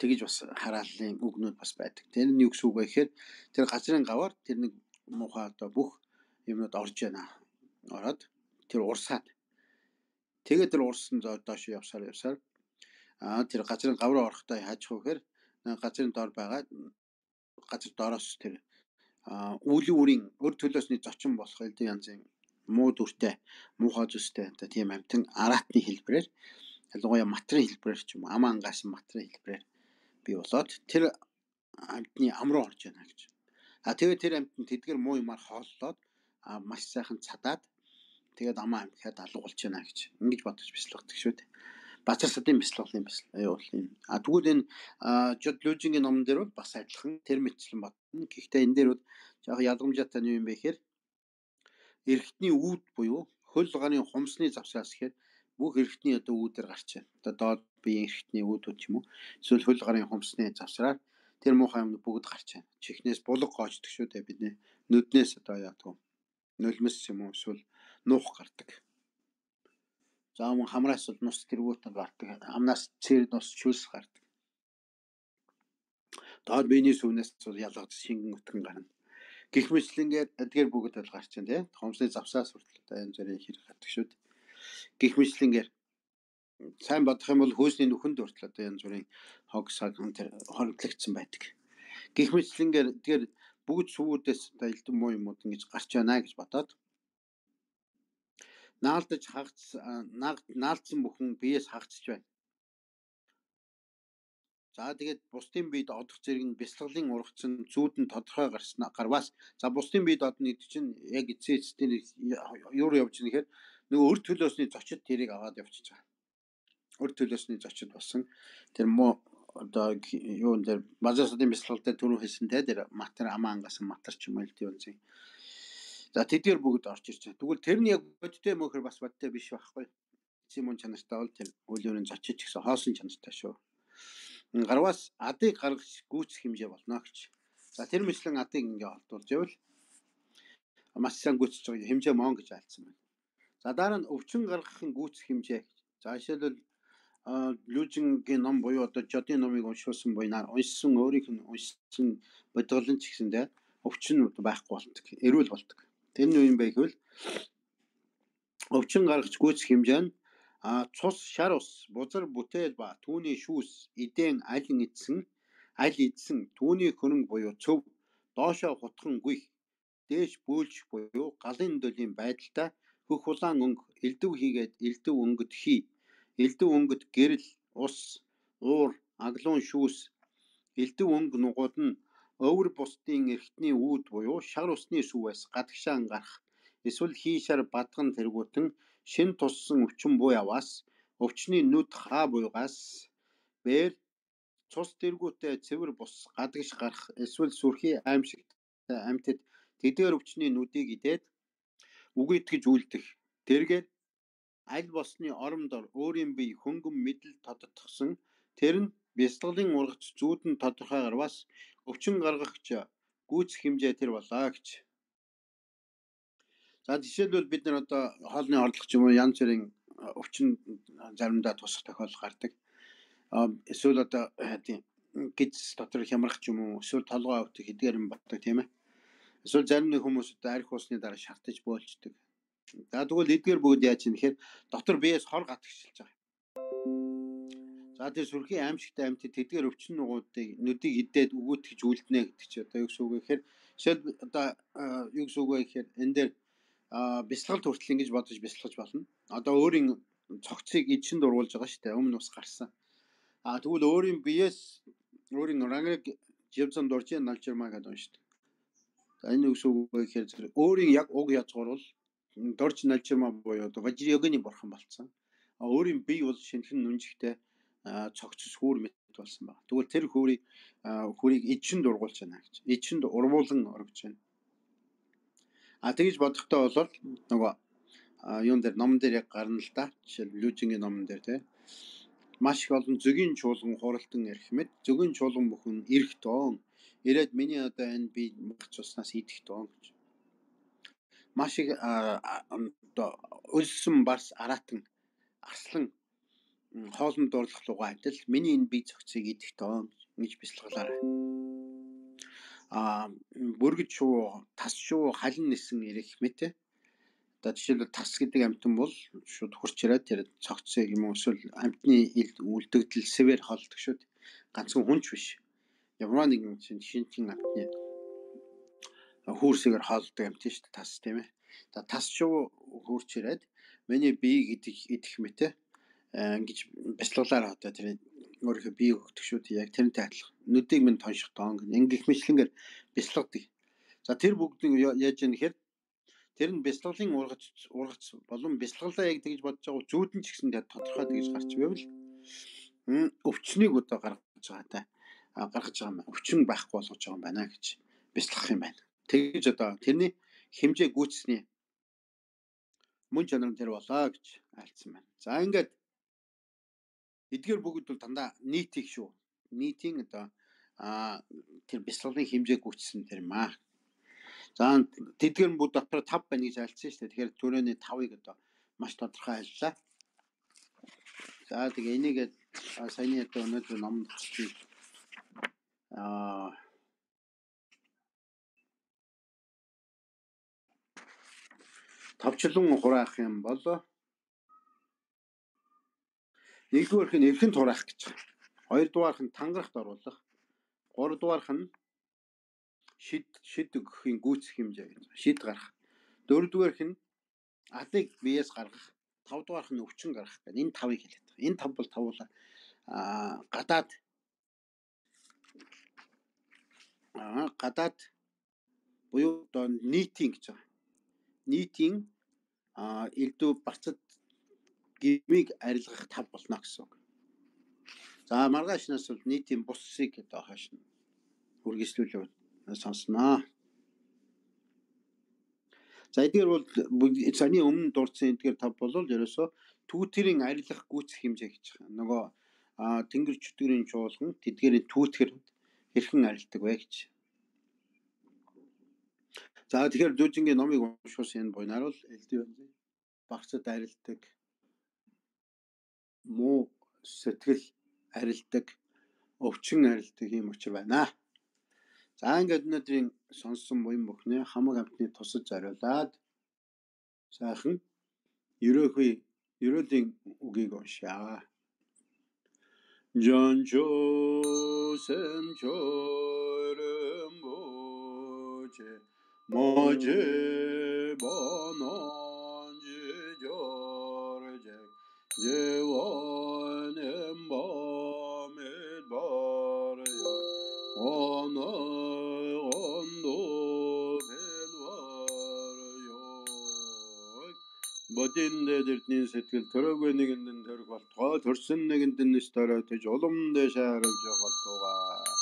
Тэгэж бас харааллын үгнүүд бас байдаг. Тэр нь юу гэсэн үг вэ гэхээр тэр газрын гаваар тэр нэг муухай одоо бүх юмнууд орж байна. Ороод тэр урсаад тэгээд тэр урсан доош явсаар явсаар аа тэр газрын гавраа орохдоо хаажих вэ гэхээр газрын доор байгаа газар доороос тэр аа үүлийн үрийн өр төлөөсний зочин болох элдв янзын муу дүртэй муухай зүстэй одоо тийм амтан араатны хэлбэрээр ялангуяа матрын хэлбэрээр ч юм уу ам ангаас матрын хэлбэрээр би болоод тэр амтны ам руу орж яана гэж. А тэгээд тэр амтнд тэдгэр муу юмар хооллоод а маш сайхан цадаад тэгээд амаа амхиад алга болж яана гэж ингэж бодож бяцлагдаг шүү дээ. Базар садын бяцлаглын бяцлал бол энэ. А тэгвэл энэ Жод Лужингийн номон дээр бол бас адилхан тэр мэтчлэн бодно. Гэхдээ энэ дээр бол яг ялгамжаатай нь юм бэ гэхээр эрхтний үүд буюу хөл гарын хумсны завсраас гэхээр бүх эрхтний одоо үүдээр гарч байна. Одоо доод биеийн эрхтний үүдүүд ч юм уу эсвэл хөл гарын хумсны завсраар тэр муухай юм бүгд гарч байна. Чихнээс булаг гоочдөг шүү дээ бидний нүднээс одоо яадаг нулимс юм уу эсвэл нуух гардаг. За мөн хамраас бол нус тэргүүтэн гардаг. Хамнаас цэр нус чүлс гардаг. Доод биений сүнээс бол ялгаж шингэн өтгөн гарна. Гэх мэтлэнгээр эдгээр бүгд бол гарч байна тий. Хумсны завсаас хүртэл одоо энэ зэрэг хэрэг гардаг шүү дээ. Гэх мэтлэнгээр сайн бодох юм бол хөөсний нүхэнд хүртэл одоо энэ зүрийн хог саг тэр хоримтлагдсан байдаг. Гэх мэтлэнгээр эдгээр бүгд сүүрдээс одоо элдв муу юмуд ингэж гарч байна гэж бодоод наалдаж хагц наалдсан бүхэн биеэс хагцж байна. За тэгээд бусдын биед одох зэрэг нь бяцлаглын ургацсан зүүдэн тодорхой гарснаа гарваас за бусдын биед одно гэдэг чинь яг эцээ эцээр юу явж байгаа нэхэр нөгөө өр төлөөсний зочид тэрийг аваад явчихж байгаа. Өр төлөөсний зочид болсон тэр муу одоо юун дээр базар садын бяцлал дээр түрүү хэлсэн те тэр матер амаа ангасан матер ч юм уу л тийм. За тэдгээр бүгд орж ирж байна. Тэгвэл тэр нь яг бодтой мөхөр бас бодтой биш байхгүй. Симон чанартай бол тэр үлүүрийн зочид гэсэн хоосон чанартай шүү. Гарваас адыг гаргаж гүйцэх хэмжээ болно гэж. За тэр мэтлэн адыг ингээ олдуулж байвал маш сайн гүйцэж байгаа хэмжээ мон гэж альцсан байна. За дараа нь өвчин гаргахын гүйцэх хэмжээ. За жишээлбэл Лужингийн ном буюу одоо Жодын номыг уншуулсан буйнаар уншсан өөрийнх нь уншсан бодголон ч гэсэндээ өвчин байхгүй болдог. Эрүүл болдог. Тэр нь юу юм бэ гэвэл өвчин гаргаж гүйцэх хэмжээ нь а цус, шар ус, бузар бүтээл ба түүний шүүс, эдэн алин идсэн, аль идсэн, түүний хөрөнгө буюу цөв, доошоо хутхан гүйх, дээш бөөлж буюу галын дөлийн байдалтай хөх улаан өнгө, элдв хийгээд элдв өнгөд хий, элдв өнгөд гэрэл, ус, уур, аглуун шүүс, элдв өнгө нугууд нь өвөр бусдын эрхтний үүд буюу шар усны сүүвээс гадагшаан гарах эсвэл хийшаар бадган тэргүүтэн шин туссан өвчин буй аваас өвчний нүд хаа буйгаас бээр цус тэргүүтээ цэвэр бус гадагш гарах эсвэл сүрхий аимшигтай амьтад тэдгээр өвчний нүдийг идээд үгүйтгэж үлдэх. Тэргээд аль босны оромдор өөрийн бие хөнгөн мэдэл тодотгосон тэр нь бясалгалын ургац зүүдэн тодорхойгоор бас өвчин гаргагч гүйцэх хэмжээ тэр болоо гэж. За жишээлбэл бид нар одоо хоолны орлого ч юм уу янз бүрийн өвчин заримдаа тусах тохиолдол гардаг. Эсвэл одоо тийм гидс дотор хямрах ч юм уу эсвэл толгой өвтөх эдгээр юм болдог тийм ээ. Эсвэл зарим нэг хүмүүс одоо арх уусны дараа шартаж боолждаг. За тэгвэл эдгээр бүгд яаж юм гэхээр дотор биеэс хор гатгчилж байгаа. За тэр сүрхий аимшигтай амьтад тэдгээр өвчин нугуудыг нүдийг идээд өгөөтгэж үлднэ гэдэг чи одоо юу гэсэн үг вэ гэхээр жишээл одоо юу гэсэн үг вэ гэхээр энэ дээр бясалгалт хүртэл ингэж бодож бясалгаж болно. Одоо өөрийн цогцыг эдшин дургуулж байгаа шүү дээ. Өмнө ус гарсан. А тэгвэл өөрийн биеэс өөрийн ранг живзан дуржин налжирмаа гэдэг юм шүү дээ. За энэ юу гэсэн үг вэ гэхээр өөрийн яг уг язгуур бол дорж налжирмаа буюу одоо важирёгны бурхан болсон. А өөрийн бие бол шинхэн нүнжигтэй цогцос хүүр мэт болсон байна. Тэгвэл тэр хүүрийг хүүрийг эдшин дургуулж байна гэж. Эдшинд урвуулан оргиж байна. А тэгж бодохдоо бол нөгөө юун дээр номон дээр яг гарна л да. Жишээл Лүжингийн номон дээр тий. Маш их олон зөгийн чуулган хуралтан ярих мэт зөгийн чуулган бүхэн ирэх тоон ирээд миний одоо энэ би мах цуснаас идэх тоон гэж. Маш их одоо өлсөн барс аратан арслан хоолнд дурлах лугаа адил миний энэ бие цогцыг идэх тоон гэж бясалгалаарай. А бүргэж шуу тас шуу халин нисэн ирэх мэт. Одоо жишээлбэл тас гэдэг амьтан бол шууд хурч ирээд тэр цогцыг юм уу эсвэл амьтны үлдэгдэл сэвэр холдог шүү дээ. Ганцхан хүнч биш. Ямар нэгэн шинжлэх амьтны хүүрсээр холдог амьт шүү дээ тас тийм ээ. За тас шуу хурч ирээд миний биеийг идэх идэх мэт ингэж бясалгалаар одоо тэр өөрийнхөө биеийг өгдөг шүү дээ. Яг тэрнтэй адилхан. Нүдийг минь тонших тоон ингэх мэтлэнгээр бясалгадаг. За тэр бүгдийг яаж яах гэхээр тэр нь бясалгалын ургац ургац болон бясалгалаа яг тэгж бодож байгаа зүүдэн ч гэсэн тодорхой тэгж гарч байвал өвчнийг одоо гаргаж байгаа та гаргаж байгаа юм. Өвчин байхгүй болгож байгаа юм байна гэж бясалгах юм байна. Тэгж одоо тэрний хэмжээ гүйцсэний мөн чанар нь тэр болоо гэж альцсан байна. За ингээд эдгээр бүгд бол дандаа нийтийг шүү. Нийтийн одоо тэр бясалгалын хэмжээ гүйцсэн тэр юм аа. За тэдгээр бүгд дотор тав байна гэж альцсан шүү дээ. Тэгэхээр түрээний тавыг одоо маш тодорхой альлаа. За тэгээ энийг саяны одоо өнөөдөр номд бичиж аа тавчлан хураах юм бол нэгдүгээрх нь эрхэн тураах гэж байна. Хоёрдугаарх нь тангарахт оруулах. Гуравдугаарх нь шид шид өгөхийн гүйцэх хэмжээ гэж. Шид гарах. Дөрөвдүгээрх нь алыг биеэс гаргах. Тавдугаарх нь өвчин гаргах гэдэг. Энэ тавыг хэлээд байгаа. Энэ тав бол тавуулаа аа гадаад аа гадаад буюу одоо нийтийн гэж байгаа. Нийтийн аа элдв барцад гмийг арилгах тав болно гэсэн үг. За маргаашнаас бол нийтийн бусыг одоо хаш үргэлжлүүлээ сонсноо. За эдгээр бол саяны өмнө дурдсан эдгээр тав бол ерөөсөө түүтэрийн арилгах гүйцэх хэмжээ гэж байгаа. Нөгөө тэнгэр чөтгөрийн чуулган тэдгээрийн түүтгэр хэрхэн арилдаг вэ гэж. За тэгэхээр Лүжингийн номыг уншуулсан энэ буйнаар бол элдв багцад арилдаг муу сэтгэл арилдаг өвчин арилдаг юм учир байна. За ингээд өнөөдрийн сонссон буян бүхнээ хамаг амтны тусаж зориулаад сайхан ерөөхий ерөөлийн үгийг уншаа. Жонжо сэнчорэм боче може бононжи жорже 제원은 밤에 바라요 오늘 온도 변화요 дээд эрдний сэтгэл төрөөгүй нэгэнд нь төрөх болтугай төрсөн нэгэнд нь нэс төрөөтөж улам дэшээ харагж болтугай.